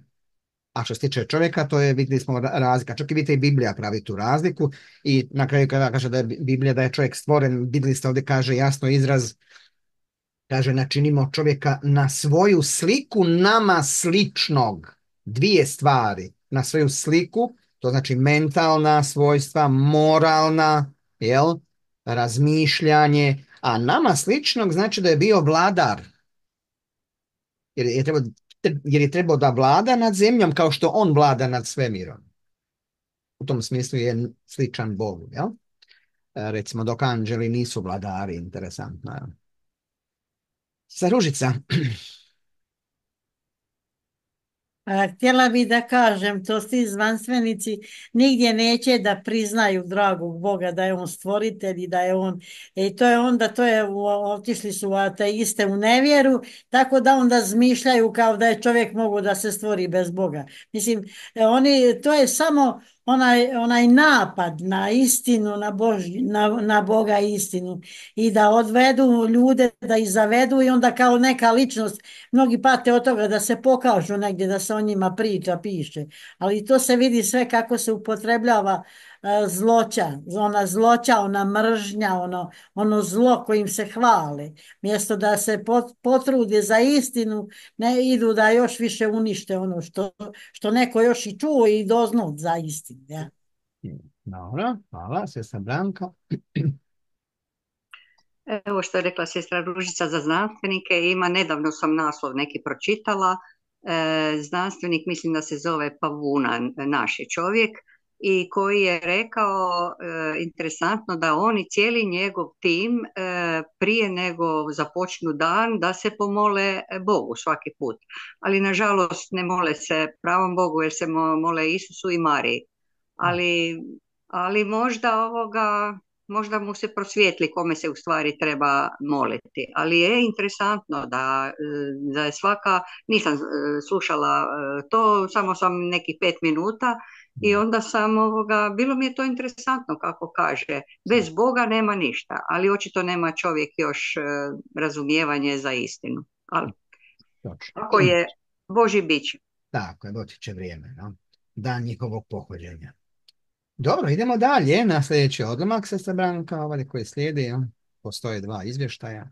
A što se tiče čovjeka, to je, vidjeli smo razlika. Čak i vidite i Biblija pravi tu razliku i na kraju kada kaže da je Biblija da je čovjek stvoren, vidjeli ste ovdje kaže jasno izraz, kaže, načinimo čovjeka na svoju sliku nama sličnog. Dvije stvari. Na svoju sliku, to znači mentalna svojstva, moralna, jel, razmišljanje, a nama sličnog znači da je bio vladar. Jer je trebao, jer je trebao da vlada nad zemljom kao što on vlada nad svemirom. U tom smislu je sličan Bogu, jel? Recimo, dok anđeli nisu vladari, interesantno, jel? Sa Ružica. A, htjela bi da kažem, to ti znanstvenici nigdje neće da priznaju dragog Boga, da je on stvoritelj i da je on, i to je onda, to je, otišli su ateiste u nevjeru, tako da onda zmišljaju kao da je čovjek mogu da se stvori bez Boga. Mislim, oni, to je samo onaj, onaj napad na istinu, na, Božji, na, na Boga i istinu i da odvedu ljude, da ih zavedu i onda kao neka ličnost, mnogi pate od toga da se pokažu negdje, da se o njima priča, piše, ali to se vidi sve kako se upotrebljava uh, zloća, ona zloća, ona mržnja, ono, ono zlo kojim se hvale, mjesto da se pot, potrude za istinu, ne idu da još više unište ono što, što neko još i čuo i doznao za istinu. Ja. Dobro, hvala, sestra Branka. Evo što je rekla sestra Ružica za znanstvenike, ima, nedavno sam naslov neki pročitala, e, znanstvenik, mislim da se zove Pavuna, naš je čovjek, i koji je rekao, e, interesantno, da on i cijeli njegov tim e, prije nego započnu dan da se pomole Bogu svaki put, ali nažalost ne mole se pravom Bogu jer se mole Isusu i Mariji, ali, ali možda ovoga možda mu se prosvijetli kome se u stvari treba moliti. Ali je interesantno da, da je svaka, nisam slušala to, samo sam nekih pet minuta i onda sam ovoga, bilo mi je to interesantno kako kaže, bez Boga nema ništa, ali očito nema čovjek još razumijevanje za istinu. Ali ako je Božji biće. Tako je, doći će vrijeme, no? Dan njihovog pohođenja. Dobro, idemo dalje na sljedeći odlomak, sestra Branka, ovaj koji slijedi. Ja. Postoje dva izvještaja.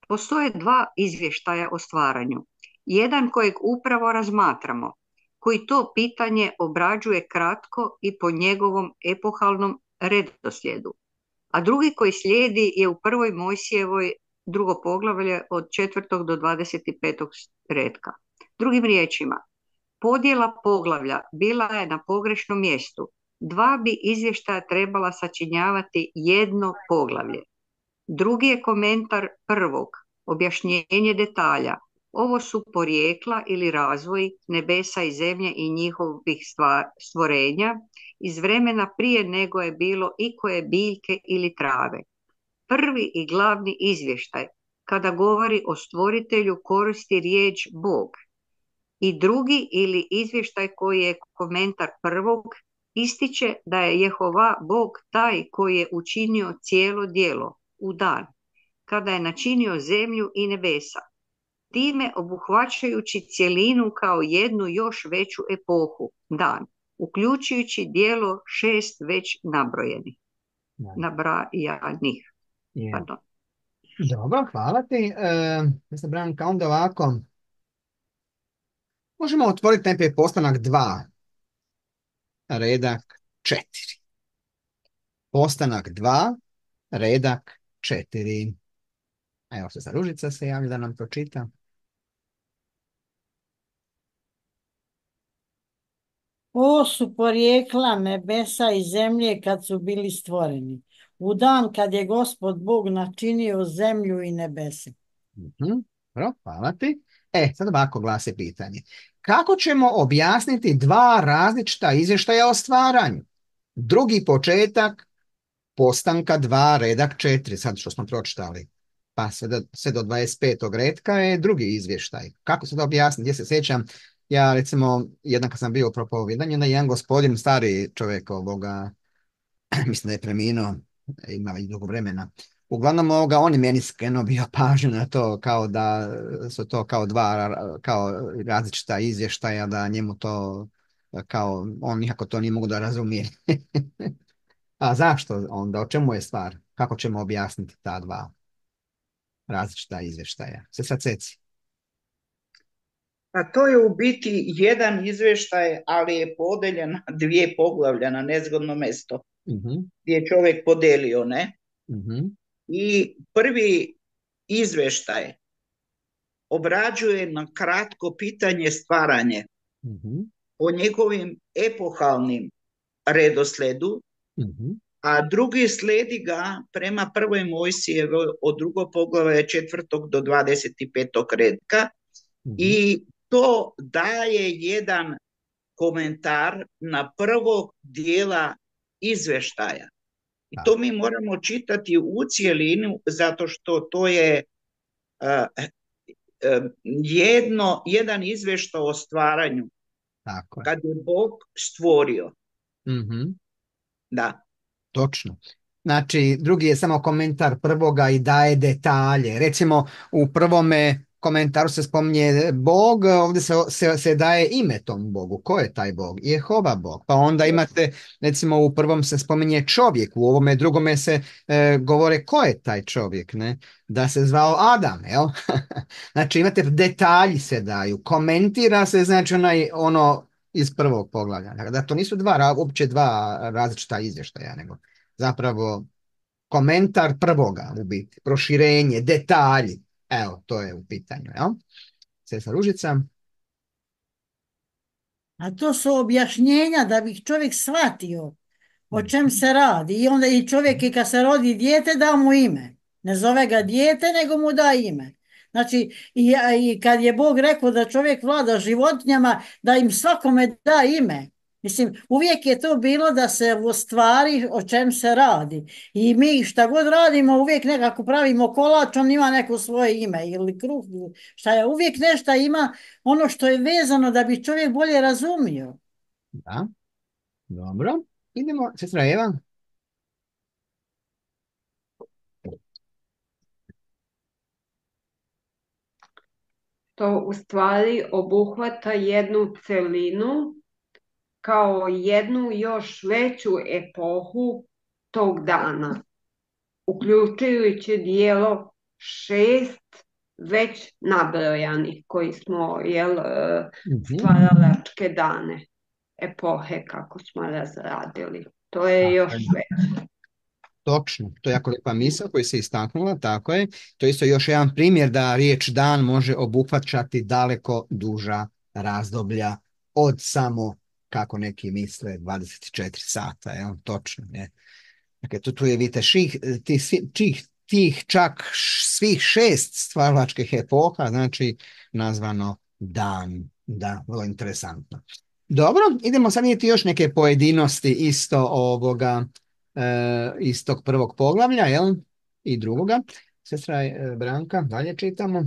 Postoje dva izvještaja o stvaranju. Jedan kojeg upravo razmatramo, koji to pitanje obrađuje kratko i po njegovom epohalnom redoslijedu. A drugi koji slijedi je u prvoj Mojsijevoj drugo poglavlje od četvrtog do dvadeset petog retka. Drugim riječima, podjela poglavlja bila je na pogrešnom mjestu. Dva bi izvještaja trebala sačinjavati jedno poglavlje. Drugi je komentar prvog, objašnjenje detalja, Ovo su porijekla ili razvoj nebesa i zemlje i njihovih stva- stvorenja iz vremena prije nego je bilo ikoje biljke ili trave. Prvi i glavni izvještaj kada govori o stvoritelju koristi riječ Bog. I drugi ili izvještaj koji je komentar prvog ističe da je Jehova Bog taj koji je učinio cijelo djelo u dan, kada je načinio zemlju i nebesa, time obuhvaćajući cjelinu kao jednu još veću epohu, dan, uključujući djelo šest već nabrojenih. Nabrajanih. Je. Pardon. Dobro, hvala ti. E, Mister Branka, onda ovako. Možemo otvoriti najprije postanak dva, redak četiri. Postanak dva, redak četiri. Evo se za Ružica se javlja da nam to čita. Ovo su porijekla nebesa i zemlje kad su bili stvoreni. U dan kad je Gospod Bog načinio zemlju i nebese. Mhm. Dobro, hvala ti. E, sad ovako glasi pitanje. Kako ćemo objasniti dva različita izvještaja o stvaranju? Drugi početak postanka dva, redak četiri, sad što smo pročitali. Pa sve do, sve do dvadeset petog redka je drugi izvještaj. Kako se to objasniti? Gdje se sjećam, ja recimo, jednak kad sam bio u propovidanju, da jedan gospodin, stari čovjek ovoga, mislim da je preminuo, ima već dugo vremena. Uglavnom ovoga, on je meni skrenuo bio pažnju na to kao da su to kao dva kao različita izvještaja, da njemu to kao, on nikako to nije mogu da razumije. A zašto onda? O čemu je stvar? Kako ćemo objasniti ta dva različita izvještaja? Se sad seci. A to je u biti jedan izvještaj, ali je podeljen na dvije poglavlja na nezgodno mesto, Uh-huh. gdje je čovjek podelio, ne? Uh-huh. I prvi izvještaj obrađuje na kratko pitanje stvaranje Uh-huh. o njegovim epohalnim redosledu, Uh-huh. a drugi sledi ga prema prvoj Mojsijevoj od drugog poglavlja četvrtog do dvadeset petog redka. Uh-huh. I to daje jedan komentar na prvog dijela izvještaja. I to mi moramo čitati u cjelinu, zato što to je uh, uh, jedno, jedan izvještaj o stvaranju. Tako je. Kad je Bog stvorio. Uh-huh. Da. Točno. Znači, drugi je samo komentar prvoga i daje detalje. Recimo, u prvome komentaru se spominje Bog, ovdje se, se, se daje ime tom Bogu. Ko je taj Bog? Jehova Bog. Pa onda imate, recimo, u prvom se spominje čovjek, u ovome drugome se e, govore ko je taj čovjek, ne? Da se zvao Adam, jel? Znači, imate detalji se daju, komentira se, znači, onaj, ono iz prvog poglavlja. Da to nisu dva, uopće dva različita izvještaja, nego zapravo komentar prvoga u biti, proširenje, detalji. Evo, to je u pitanju, jel? Sestra Ružica. A to su objašnjenja da bi čovjek shvatio o čem se radi. I onda i čovjek i kad se rodi dijete da mu ime. Ne zove ga dijete, nego mu da ime. Znači, i, i kad je Bog rekao da čovjek vlada životinjama, da im svakome da ime. Mislim, uvijek je to bilo da se ostvari o čem se radi. I mi šta god radimo, uvijek nekako pravimo kolač, on ima neko svoje ime ili kruh. Šta je, uvijek nešto ima ono što je vezano da bi čovjek bolje razumio. Da, dobro. Idemo, sestra Eva. To u stvari obuhvata jednu celinu kao jednu još veću epohu tog dana, uključujući dijelo šest već nabrojanih koji smo jel, stvaralačke dane, epohe kako smo razradili. To je još već. Točno, to je jako lijepa misao koju se istaknula, tako je. To je isto još jedan primjer da riječ dan može obuhvaćati daleko duža razdoblja od samo, kako neki misle, dvadeset četiri sata, je točno, je. Dakle, tu, tu je, vidite, ših, ti, čih, tih čak svih šest stvaralačkih epoha, znači nazvano dan. Da, vrlo interesantno. Dobro, idemo sad vidjeti još neke pojedinosti isto ovoga, e, iz tog prvog poglavlja, jel? I drugoga. Sestra e, Branka, dalje čitamo.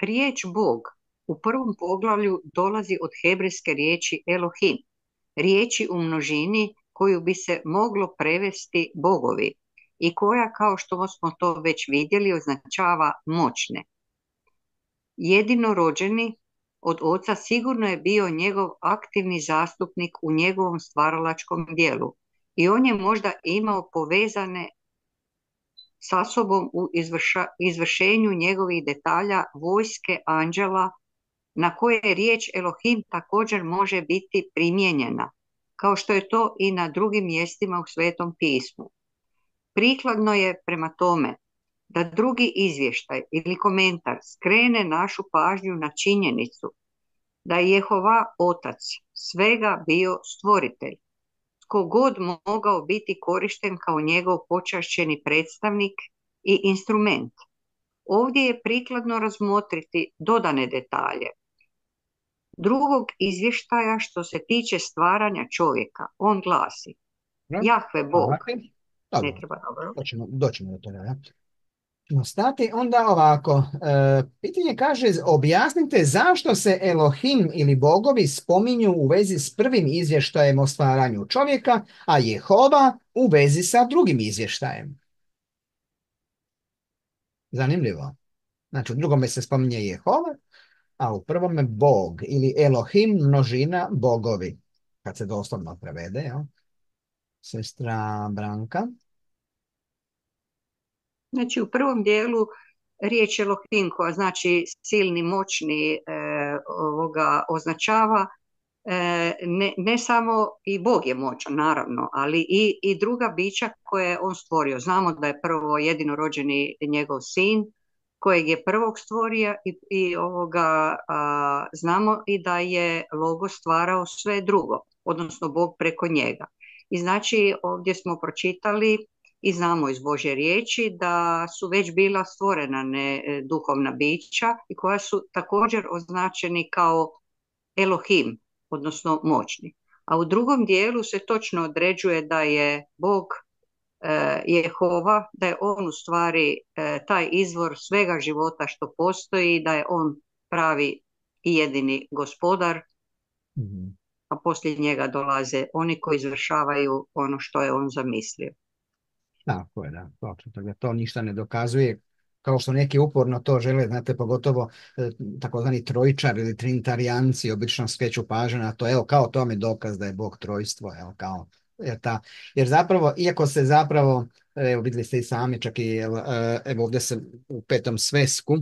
Riječ Bog u prvom poglavlju dolazi od hebrejske riječi Elohim, riječi u množini koju bi se moglo prevesti bogovi i koja, kao što smo to već vidjeli, označava moćne. Jedinorođeni od oca sigurno je bio njegov aktivni zastupnik u njegovom stvaralačkom dijelu i on je možda imao povezane sa sobom u izvrša, izvršenju njegovih detalja vojske anđela na koje riječ Elohim također može biti primijenjena, kao što je to i na drugim mjestima u Svetom pismu. Prikladno je prema tome da drugi izvještaj ili komentar skrene našu pažnju na činjenicu da je Jehova Otac svega bio stvoritelj, tko god mogao biti korišten kao njegov počašćeni predstavnik i instrument. Ovdje je prikladno razmotriti dodane detalje drugog izvještaja što se tiče stvaranja čovjeka. On glasi: Jahve Bog. Dobro. Ne treba, dobro. Doćemo, doćemo do toga, ja. No, stati onda ovako. E, pitanje kaže, objasnite zašto se Elohim ili bogovi spominju u vezi s prvim izvještajem o stvaranju čovjeka, a Jehova u vezi sa drugim izvještajem. Zanimljivo. Znači, u drugome se spominje Jehova, a u prvome Bog ili Elohim, množina bogovi. Kad se doslovno prevede, jel? Sestra Branka. Znači, u prvom dijelu riječ Elohim, koja znači silni, moćni, e, ovoga označava e, ne, ne samo i Bog je moćan, naravno, ali i, i druga bića koje je on stvorio. Znamo da je prvo jedinorođeni njegov sin, kojeg je prvog stvorio i, i ovoga, a, znamo i da je Logo stvarao sve drugo, odnosno Bog preko njega. I znači ovdje smo pročitali i znamo iz Božje riječi da su već bila stvorena ne, duhovna bića i koja su također označeni kao Elohim, odnosno moćni. A u drugom dijelu se točno određuje da je Bog e, Jehova, da je on u stvari e, taj izvor svega života što postoji, da je on pravi i jedini gospodar, mm-hmm. a poslije njega dolaze oni koji izvršavaju ono što je on zamislio. Tako je, da. To, to ništa ne dokazuje, kao što neki uporno to žele, znate, pogotovo e, takozvani trojčar ili trinitarijanci obično skreću pažnju na to, evo, kao to mi dokaz da je Bog trojstvo, evo, kao, jer, ta, jer zapravo, iako se zapravo, evo, vidjeli ste i sami, čak i, evo, ovdje se u petom svesku,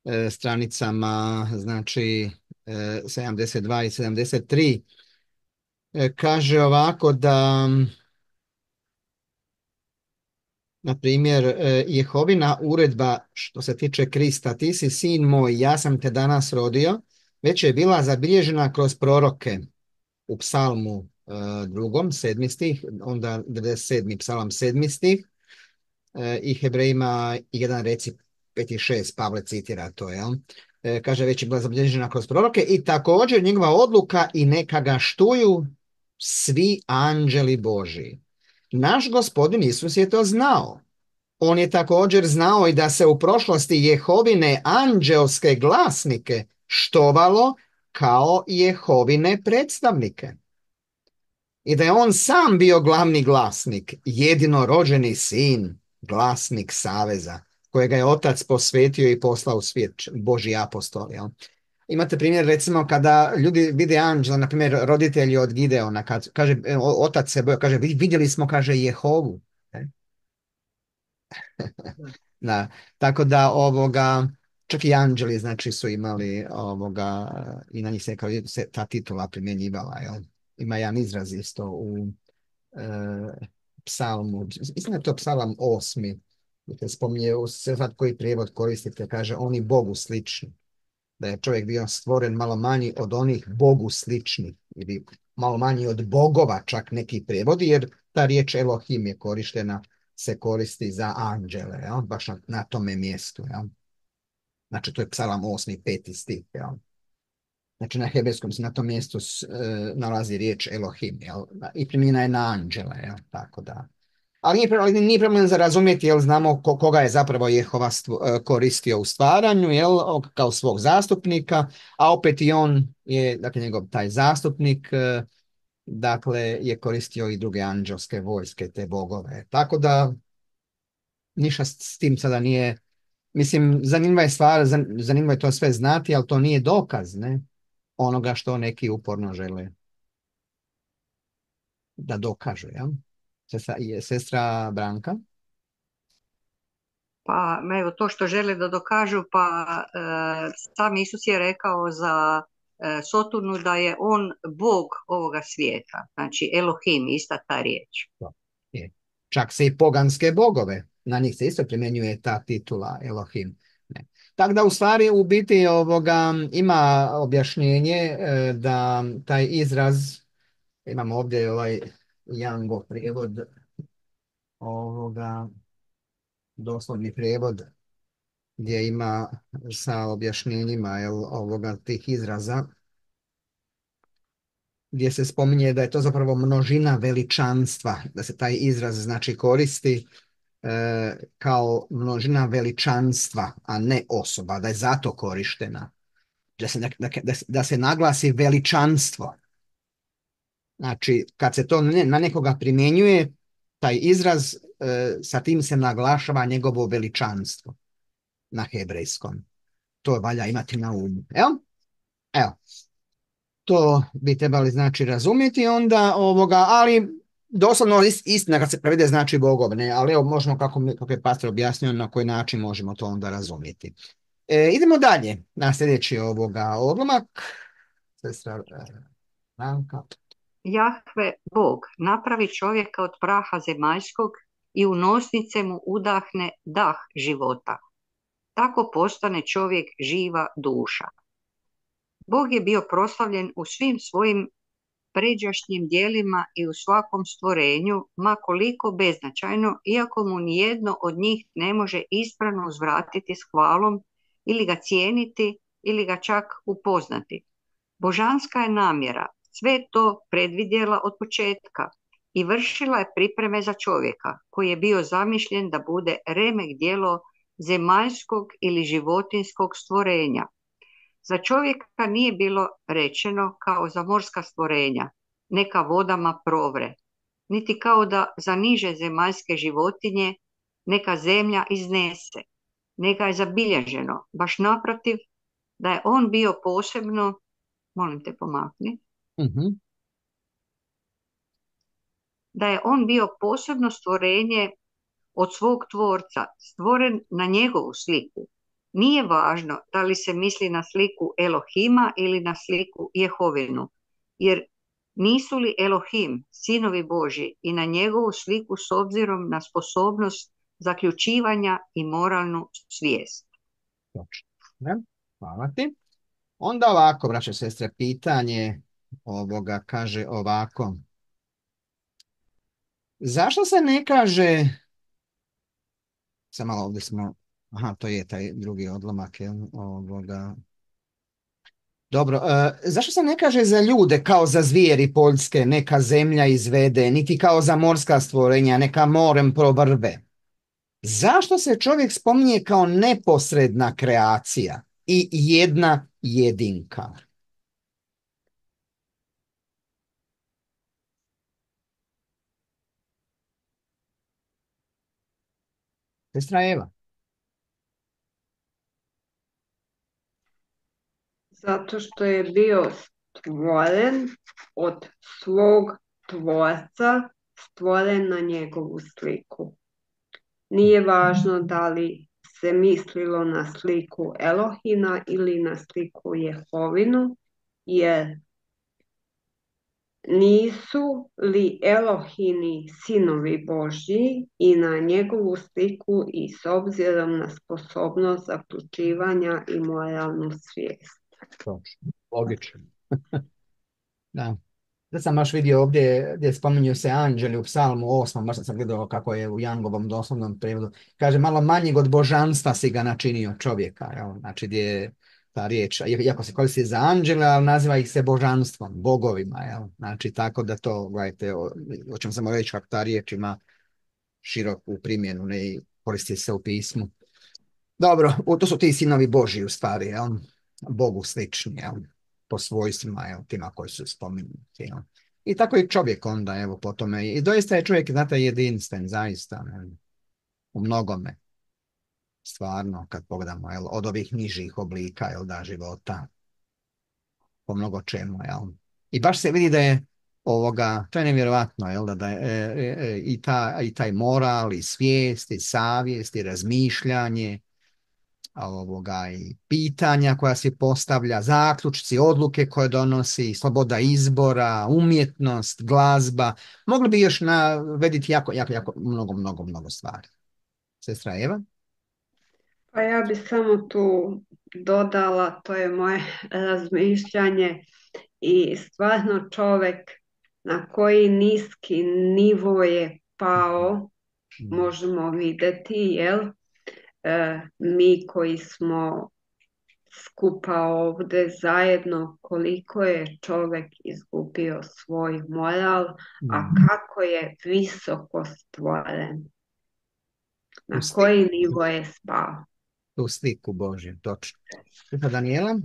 e, stranicama, znači, e, sedamdeset dva i sedamdeset tri, e, kaže ovako da... Na primjer, Jehovina uredba što se tiče Krista, ti si sin moj, ja sam te danas rodio, već je bila zabilježena kroz proroke u psalmu e, drugom, sedmi stih, onda devedeset sedmi psalam sedmi stih e, i Hebrejima jedan reci pet i šest, Pavle citira to, jel? E, kaže, već je bila zabilježena kroz proroke i također njegova odluka i neka ga štuju svi anđeli Božji. Naš gospodin Isus je to znao. On je također znao i da se u prošlosti Jehovine anđelske glasnike štovalo kao Jehovine predstavnike. I da je on sam bio glavni glasnik, jedinorođeni sin, glasnik saveza, kojega je otac posvetio i poslao u svijet, Božji apostol. Jel? Imate primjer, recimo, kada ljudi vide anđela, na primjer, roditelji od Gideona, kad, kaže, otac se boja, kaže, vidjeli smo, kaže, Jehovu. Da, tako da, ovoga, čak i anđeli, znači, su imali, ovoga, i na njih se, kao, se ta titula primjenjivala, jel? Ima jedan izraz isto u e, psalmu, mislim da je to psalam osmi, gdje spominje, se sad koji prijevod koristite, kaže, oni Bogu slični. Da je čovjek bio stvoren malo manji od onih Bogu sličnih ili malo manji od bogova, čak neki prijevodi, jer ta riječ Elohim je korištena se koristi za anđele, jel? Baš na, na tome mjestu. Jel? Znači, to je Psalam osmi, peti stih. Jel? Znači, na hebrejskom se na tom mjestu s, e, nalazi riječ Elohim, jel? I primjena je na anđele, jel? Tako da. Ali nije, ali nije problem za razumjeti, jel znamo ko, koga je zapravo Jehova stvo, koristio u stvaranju, jel, kao svog zastupnika, a opet i on je, dakle, njegov taj zastupnik, dakle, je koristio i druge anđelske vojske, te bogove. Tako da, ništa s tim sada nije, mislim, zanimljiva je stvar, zanimljivo je to sve znati, ali to nije dokaz, ne, onoga što neki uporno žele da dokažu, jel? Sestra, sestra Branka? Pa evo to što žele da dokažu, pa e, sam Isus je rekao za e, Soturnu da je on Bog ovoga svijeta, znači Elohim, ista ta riječ. Je. Čak se i poganske bogove, na njih se isto primjenjuje ta titula Elohim. Ne. Tako da u stvari u biti ovoga ima objašnjenje e, da taj izraz, imamo ovdje ovaj Yango prijevod, ovoga doslovni prijevod gdje ima sa objašnjenjima jel, ovoga tih izraza, gdje se spominje da je to zapravo množina veličanstva, da se taj izraz znači koristi e, kao množina veličanstva, a ne osoba, da je zato korištena, da se, da, da, da se naglasi veličanstvo. Znači, kad se to ne, na nekoga primjenjuje, taj izraz, e, sa tim se naglašava njegovo veličanstvo na hebrejskom. To valja imati na umu. Evo, evo. To bi trebali znači razumjeti onda ovoga, ali doslovno istina kad se prevede znači bogov, ne, ali evo možemo kako, kako je pastor objasnio na koji način možemo to onda razumjeti. E, idemo dalje na sljedeći ovoga odlomak. Sestra Ranka. Jahve, Bog, napravi čovjeka od praha zemaljskog i u nosnice mu udahne dah života. Tako postane čovjek živa duša. Bog je bio proslavljen u svim svojim pređašnjim dijelima i u svakom stvorenju, ma koliko beznačajno, iako mu nijedno od njih ne može ispravno uzvratiti s hvalom ili ga cijeniti ili ga čak upoznati. Božanska je namjera sve to predvidjela od početka i vršila je pripreme za čovjeka koji je bio zamišljen da bude remek djelo zemaljskog ili životinskog stvorenja. Za čovjeka nije bilo rečeno kao za morska stvorenja, neka vodama provre, niti kao da za niže zemaljske životinje neka zemlja iznese, neka je zabilježeno, baš naprotiv, da je on bio posebno, molim te pomakni, Uh-huh. da je on bio posebno stvorenje od svog tvorca, stvoren na njegovu sliku. Nije važno da li se misli na sliku Elohima ili na sliku Jehovinu, jer nisu li Elohim, sinovi Božji, i na njegovu sliku s obzirom na sposobnost zaključivanja i moralnu svijest. Točno. Hvala ti. Onda ovako, braće i sestre, pitanje ovoga kaže ovako. Zašto se ne kaže, sad malo ovdje smo, aha, to je taj drugi odlomak, jel, ovoga. Dobro, e, zašto se ne kaže za ljude kao za zvijeri poljske, neka zemlja izvede, niti kao za morska stvorenja, neka morem provrve? Zašto se čovjek spominje kao neposredna kreacija i jedna jedinka? Sestra Eva. Zato što je bio stvoren od svog tvorca, stvoren na njegovu sliku. Nije važno da li se mislilo na sliku Elohina ili na sliku Jehovinu, jer nisu li Elohini sinovi Božji i na njegovu sliku i s obzirom na sposobnost zaključivanja i moralnu svijest. Točno, logično. Da. Da sam baš vidio ovdje gdje spominju se anđeli u psalmu osmom, baš sam gledao kako je u Jangovom doslovnom prevodu. Kaže, malo manjeg od božanstva si ga načinio čovjeka. Jel? Znači gdje je ta riječ, iako se koristi za anđele, ali naziva ih se božanstvom, bogovima. Jel? Znači tako da to, gledajte, o, o čem sam reći, kako ta riječ ima široku primjenu, ne i koristi se u pismu. Dobro, u- to su ti sinovi Božji u stvari, jel? Bogu slični, jel? Po svojstvima, jel? Tima koji su spomenuti, jel? I tako i čovjek onda, evo, po tome. I doista je čovjek, znate, jedinstven, zaista, jel? U mnogome, stvarno, kad pogledamo, jel? Od ovih nižih oblika, jel, da, života, po mnogo čemu, jel? I baš se vidi da je ovoga, to je nevjerojatno, jel, da, da je e, e, e, i, ta, i taj moral, i svijest, i savjest, i razmišljanje, ovoga, i pitanja koja se postavlja, zaključci, odluke koje donosi, sloboda izbora, umjetnost, glazba. Mogli bi još navediti jako, jako, jako mnogo, mnogo, mnogo stvari. Sestra Eva? Pa ja bi samo tu dodala, to je moje razmišljanje i stvarno čovjek na koji niski nivo je pao, možemo vidjeti, jel? E, mi koji smo skupa ovdje zajedno, koliko je čovjek izgubio svoj moral, a kako je visoko stvoren, na Tu sliku, koji nivo je spao. tu sliku Božju, točno. Sestra Danijela?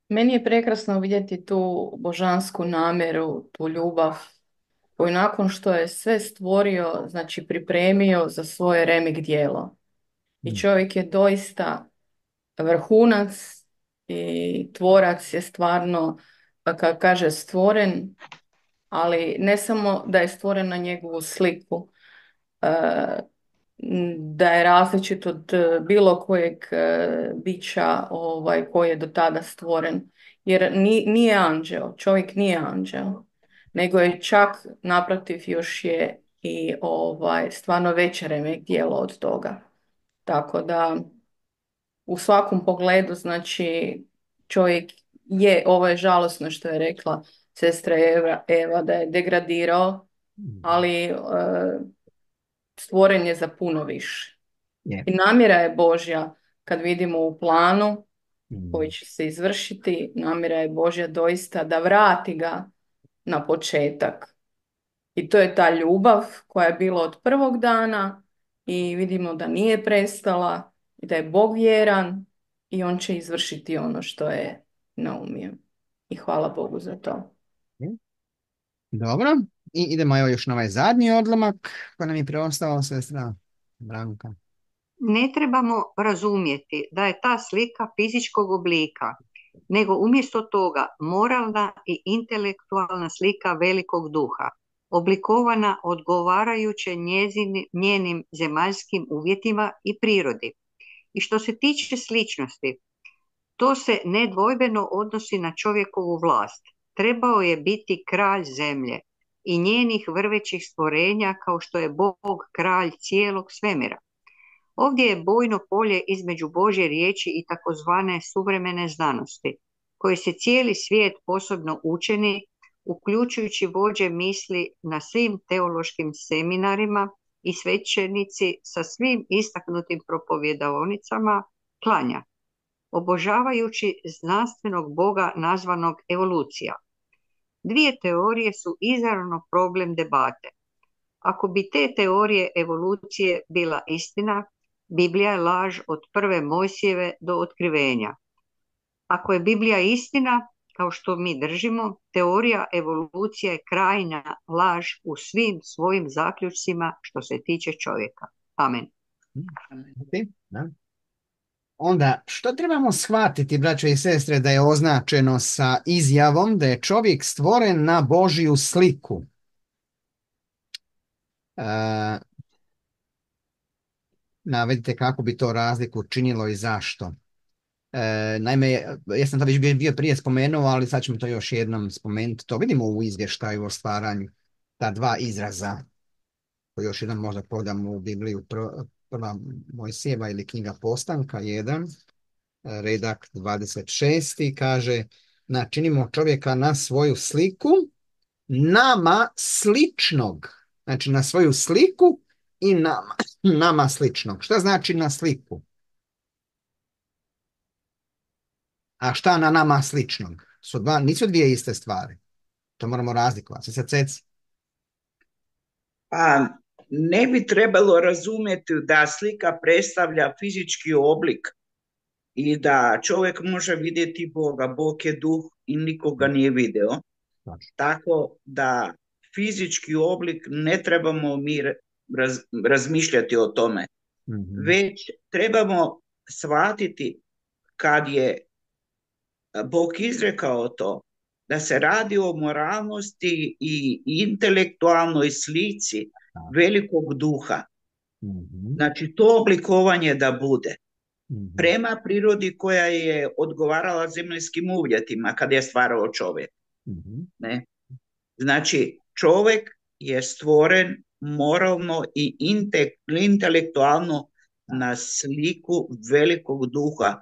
Meni je prekrasno vidjeti tu božansku namjeru, tu ljubav koju nakon što je sve stvorio, znači pripremio za svoje remek djelo. I čovjek je doista vrhunac i tvorac je stvarno, kako kaže, stvoren, ali ne samo da je stvoren na njegovu sliku, e, da je različit od e, bilo kojeg e, bića ovaj, koji je do tada stvoren. Jer ni, nije anđeo, čovjek nije anđeo, nego je čak naprotiv još je i ovaj, stvarno veće remek djelo od toga. Tako da u svakom pogledu, znači, čovjek je, ovo je žalosno što je rekla sestra Eva, Eva da je degradirao, ali e, stvoren je za puno više. Je. I namjera je Božja, kad vidimo u planu Mm. koji će se izvršiti, namjera je Božja doista da vrati ga na početak. I to je ta ljubav koja je bila od prvog dana i vidimo da nije prestala i da je Bog vjeran i on će izvršiti ono što je naumio. I hvala Bogu za to. Dobro, i idemo evo još na ovaj zadnji odlomak koji nam je preostao, sestra Branka. Ne trebamo razumjeti da je ta slika fizičkog oblika, nego umjesto toga moralna i intelektualna slika velikog duha, oblikovana odgovarajuće njezini, njenim zemaljskim uvjetima i prirodi. I što se tiče sličnosti, to se nedvojbeno odnosi na čovjekovu vlast. Trebao je biti kralj zemlje i njenih vrvećih stvorenja kao što je Bog kralj cijelog svemira. Ovdje je bojno polje između Božje riječi i takozvane suvremene znanosti, koje se cijeli svijet posebno učeni, uključujući vođe misli na svim teološkim seminarima i svećenici sa svim istaknutim propovjedaonicama klanja, obožavajući znanstvenog Boga nazvanog evolucija. Dvije teorije su izravno problem debate. Ako bi te teorije evolucije bila istina, Biblija je laž od prve Mojsijeve do otkrivenja. Ako je Biblija istina, kao što mi držimo, teorija evolucije je krajnja laž u svim svojim zaključcima što se tiče čovjeka. Amen. Da. Onda, što trebamo shvatiti, braćo i sestre, da je označeno sa izjavom da je čovjek stvoren na Božju sliku? E, navedite kako bi to razliku činilo i zašto. E, naime, ja sam to već bio, bio prije spomenuo, ali sad ćemo to još jednom spomenuti. To vidimo u izvještaju o stvaranju, ta dva izraza, koji još jedan možda pogledamo u Bibliju, prva, prva Mojsijeva ili knjiga Postanka, jedan, redak dvadeset šest kaže: načinimo čovjeka na svoju sliku, nama sličnog. Znači na svoju sliku i nama, nama sličnog. Šta znači na sliku? A šta na nama sličnog? Su dva, nisu dvije iste stvari. To moramo razlikovati. Sad ceci. Pa ne bi trebalo razumjeti da slika predstavlja fizički oblik i da čovjek može vidjeti Boga. Bog je duh i nikoga nije video. Znači. Tako da fizički oblik ne trebamo mi raz, razmišljati o tome. Mm-hmm. Već trebamo shvatiti kad je Bog izrekao to, da se radi o moralnosti i intelektualnoj slici velikog duha. Mm-hmm. Znači to oblikovanje da bude mm-hmm. prema prirodi koja je odgovarala zemaljskim uvjetima kad je stvarao čovjek. Mm-hmm. Ne? Znači čovjek je stvoren moralno i intelektualno na sliku velikog duha.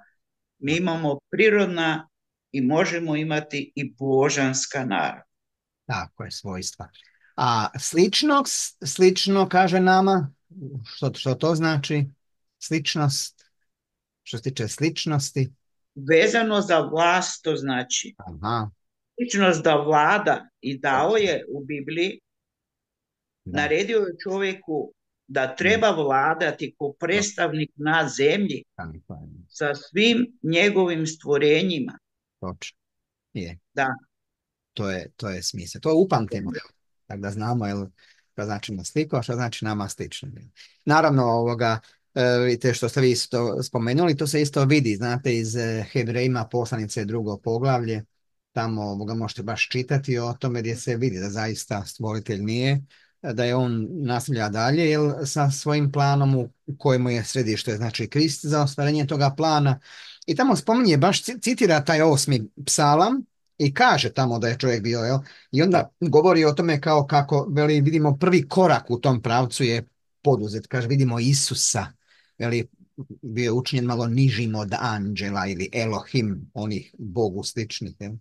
Mi imamo prirodna i možemo imati i božanska narav. Tako je, svojstva. A slično, slično kaže nama, što, što to znači? Sličnost, što se tiče sličnosti? Vezano za vlast to znači. Aha. Sličnost da vlada i dao je u Bibliji, da. Naredio je čovjeku da treba vladati ko predstavnik na zemlji sa svim njegovim stvorenjima. Točno. Je. Da. To je, to je smisao. To upamtimo. Tako da znamo jel, što znači na sliku, a što znači nama slično. Naravno, ovoga, vidite što ste vi isto spomenuli, to se isto vidi, znate, iz Hebrejima poslanice drugo poglavlje, tamo ovoga možete baš čitati o tome gdje se vidi da zaista stvoritelj nije, da je on nastavlja dalje jel, sa svojim planom u kojemu je središte, znači Krist za ostvarenje toga plana. I tamo spominje, baš citira taj osmi psalam i kaže tamo da je čovjek bio, jel? I onda govori o tome kao kako, veli, vidimo prvi korak u tom pravcu je poduzet. Kaže, vidimo Isusa, veli, bio je učinjen malo nižim od anđela ili Elohim, onih Bogu sličnih, jel?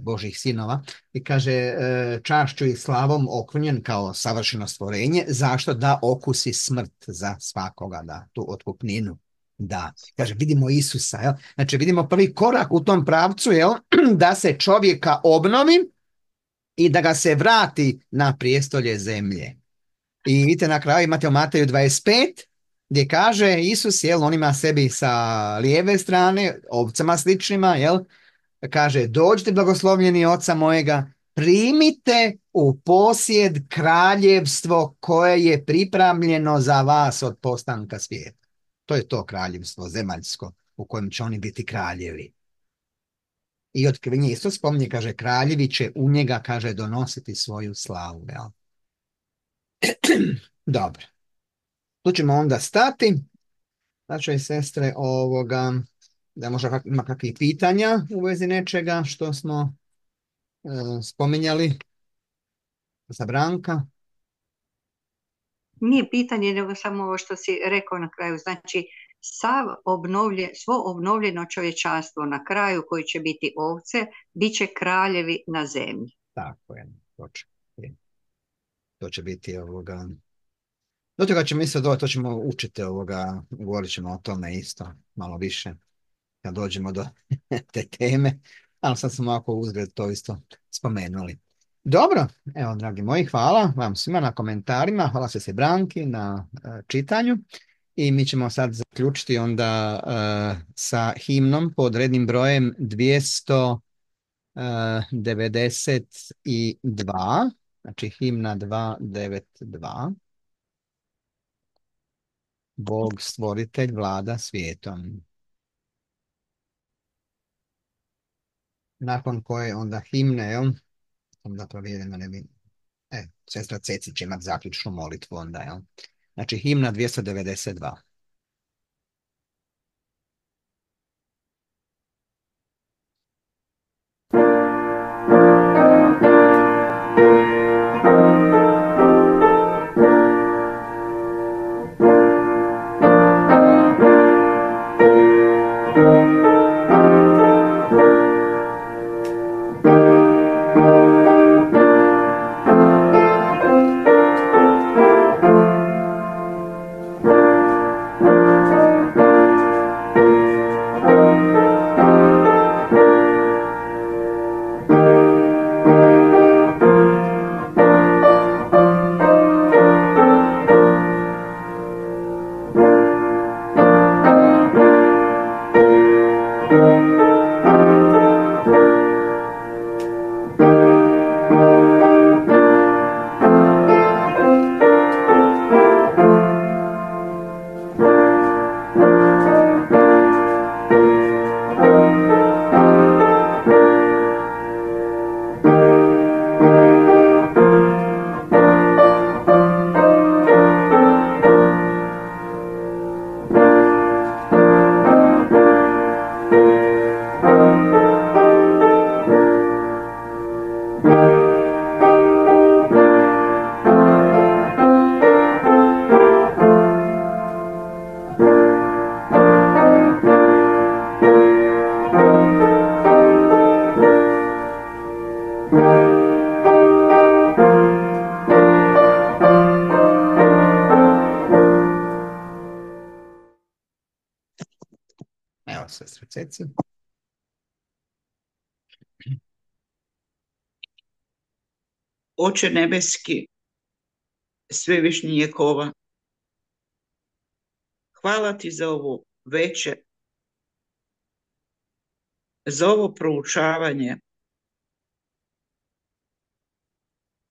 Božih sinova. I kaže, čašću i slavom okrunjen kao savršeno stvorenje, zašto da okusi smrt za svakoga, da, tu otkupninu. Da, kaže, vidimo Isusa, jel? Znači vidimo prvi korak u tom pravcu, jel? Da se čovjeka obnovi i da ga se vrati na prijestolje zemlje. I vidite na kraju imate u Mateju dvadeset pet gdje kaže Isus, jel, on ima sebi sa lijeve strane, ovcama sličnima, jel, kaže, dođite blagoslovljeni oca mojega, primite u posjed kraljevstvo koje je pripremljeno za vas od postanka svijeta. To je to kraljevstvo zemaljsko u kojem će oni biti kraljevi. I otkrivenje isto spominje, kaže, kraljevi će u njega, kaže, donositi svoju slavu. Jel? Dobro. Tu ćemo onda stati. Znači i sestre, ovoga, da možda ima kakvih pitanja u vezi nečega što smo e, spominjali za Branka. Nije pitanje, nego samo ovo što si rekao na kraju. Znači, sav obnovlje, svo obnovljeno čovječanstvo na kraju koji će biti ovce, bit će kraljevi na zemlji. Tako je, točno. To će biti ovoga... Do toga ćemo isto doći, to ćemo učiti ovoga, govorit ćemo o tome isto malo više kad dođemo do te teme, ali sad smo ovako uzgled to isto spomenuli. Dobro, evo dragi moji, hvala vam svima na komentarima, hvala se Branki na uh, čitanju i mi ćemo sad zaključiti onda uh, sa himnom pod rednim brojem dvjesto devedeset dva, znači himna dvjesto devedeset dva. Bog stvoritelj vlada svijetom. Nakon koje onda himne, jel? Onda provjerim da ne bi... E, sestra Ceci će imati zaključnu molitvu onda, jel? Znači himna dvjesto devedeset dva. Ceci. Oče nebeski, svevišnji Jehova, hvala ti za ovo večer, za ovo proučavanje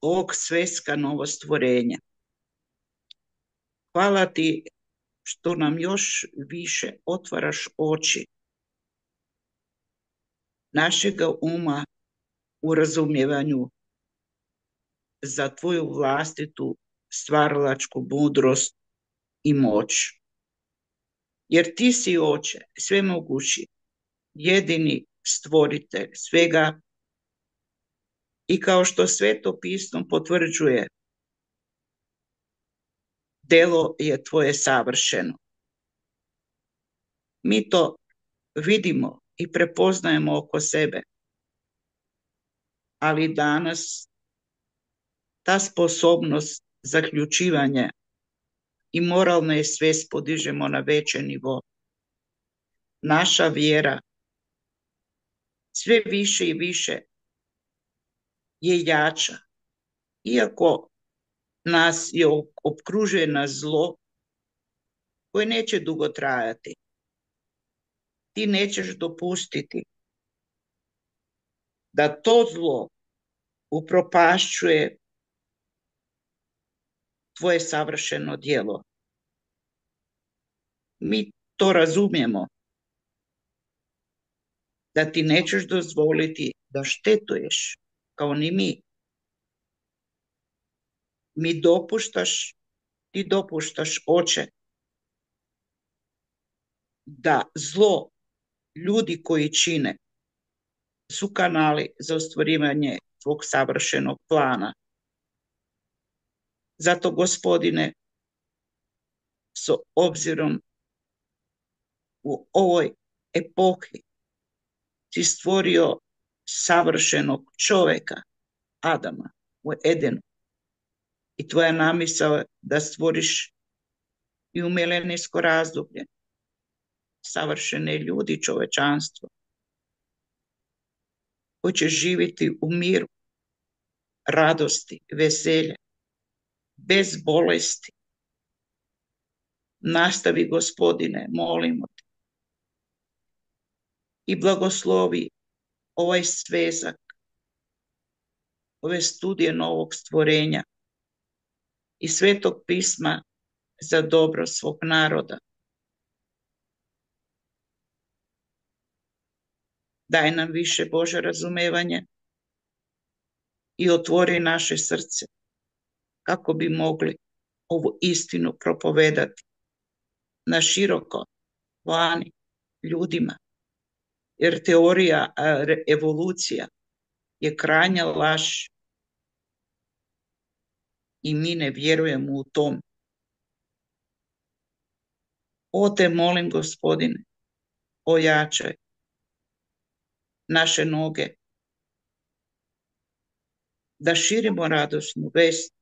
ovog sveska novostvorenja. Hvala ti što nam još više otvaraš oči našega uma u razumijevanju za tvoju vlastitu stvaralačku mudrost i moć. Jer ti si, Oče, svemogući, jedini stvoritelj svega i kao što Sveto pismo potvrđuje, delo je tvoje savršeno. Mi to vidimo i prepoznajemo oko sebe, ali danas ta sposobnost zaključivanja i moralne svest podižemo na veći nivo. Naša vjera sve više i više je jača. Iako nas je opkružuje na zlo koje neće dugo trajati, ti nećeš dopustiti da to zlo upropašćuje tvoje savršeno djelo. Mi to razumijemo, da ti nećeš dozvoliti da štetuješ, kao ni mi. Mi dopuštaš, ti dopuštaš, Oče, da zlo ljudi koji čine su kanali za ostvarivanje tvog savršenog plana. Zato, Gospodine, s obzirom u ovoj epohi si stvorio savršenog čovjeka, Adama, u Edenu. I tvoja namisao je da stvoriš i u milenijsko razdoblje savršene ljudi, čovečanstvo, koji će živjeti u miru, radosti, veselje, bez bolesti. Nastavi, Gospodine, molimo te, i blagoslovi ovaj svezak, ove studije novog stvorenja i Svetog pisma za dobro svog naroda. Daj nam više, Bože, razumevanje i otvori naše srce kako bi mogli ovu istinu propovedati na široko vani ljudima. Jer teorija evolucija je krajnja laž i mi ne vjerujemo u tom. O te molim, Gospodine, ojačaj naše noge, da širimo radosnu vest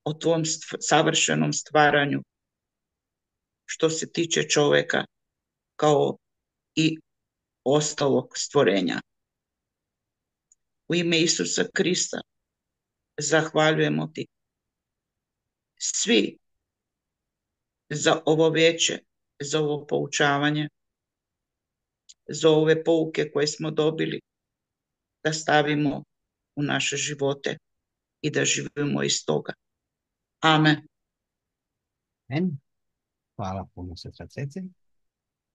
o tvom savršenom stvaranju što se tiče čovjeka kao i ostalog stvorenja. U ime Isusa Krista zahvaljujemo ti svi za ovo veče, za ovo poučavanje, za ove pouke koje smo dobili, da stavimo u naše živote i da živimo iz toga. Amen. Amen. Hvala puno, sestra Ceci.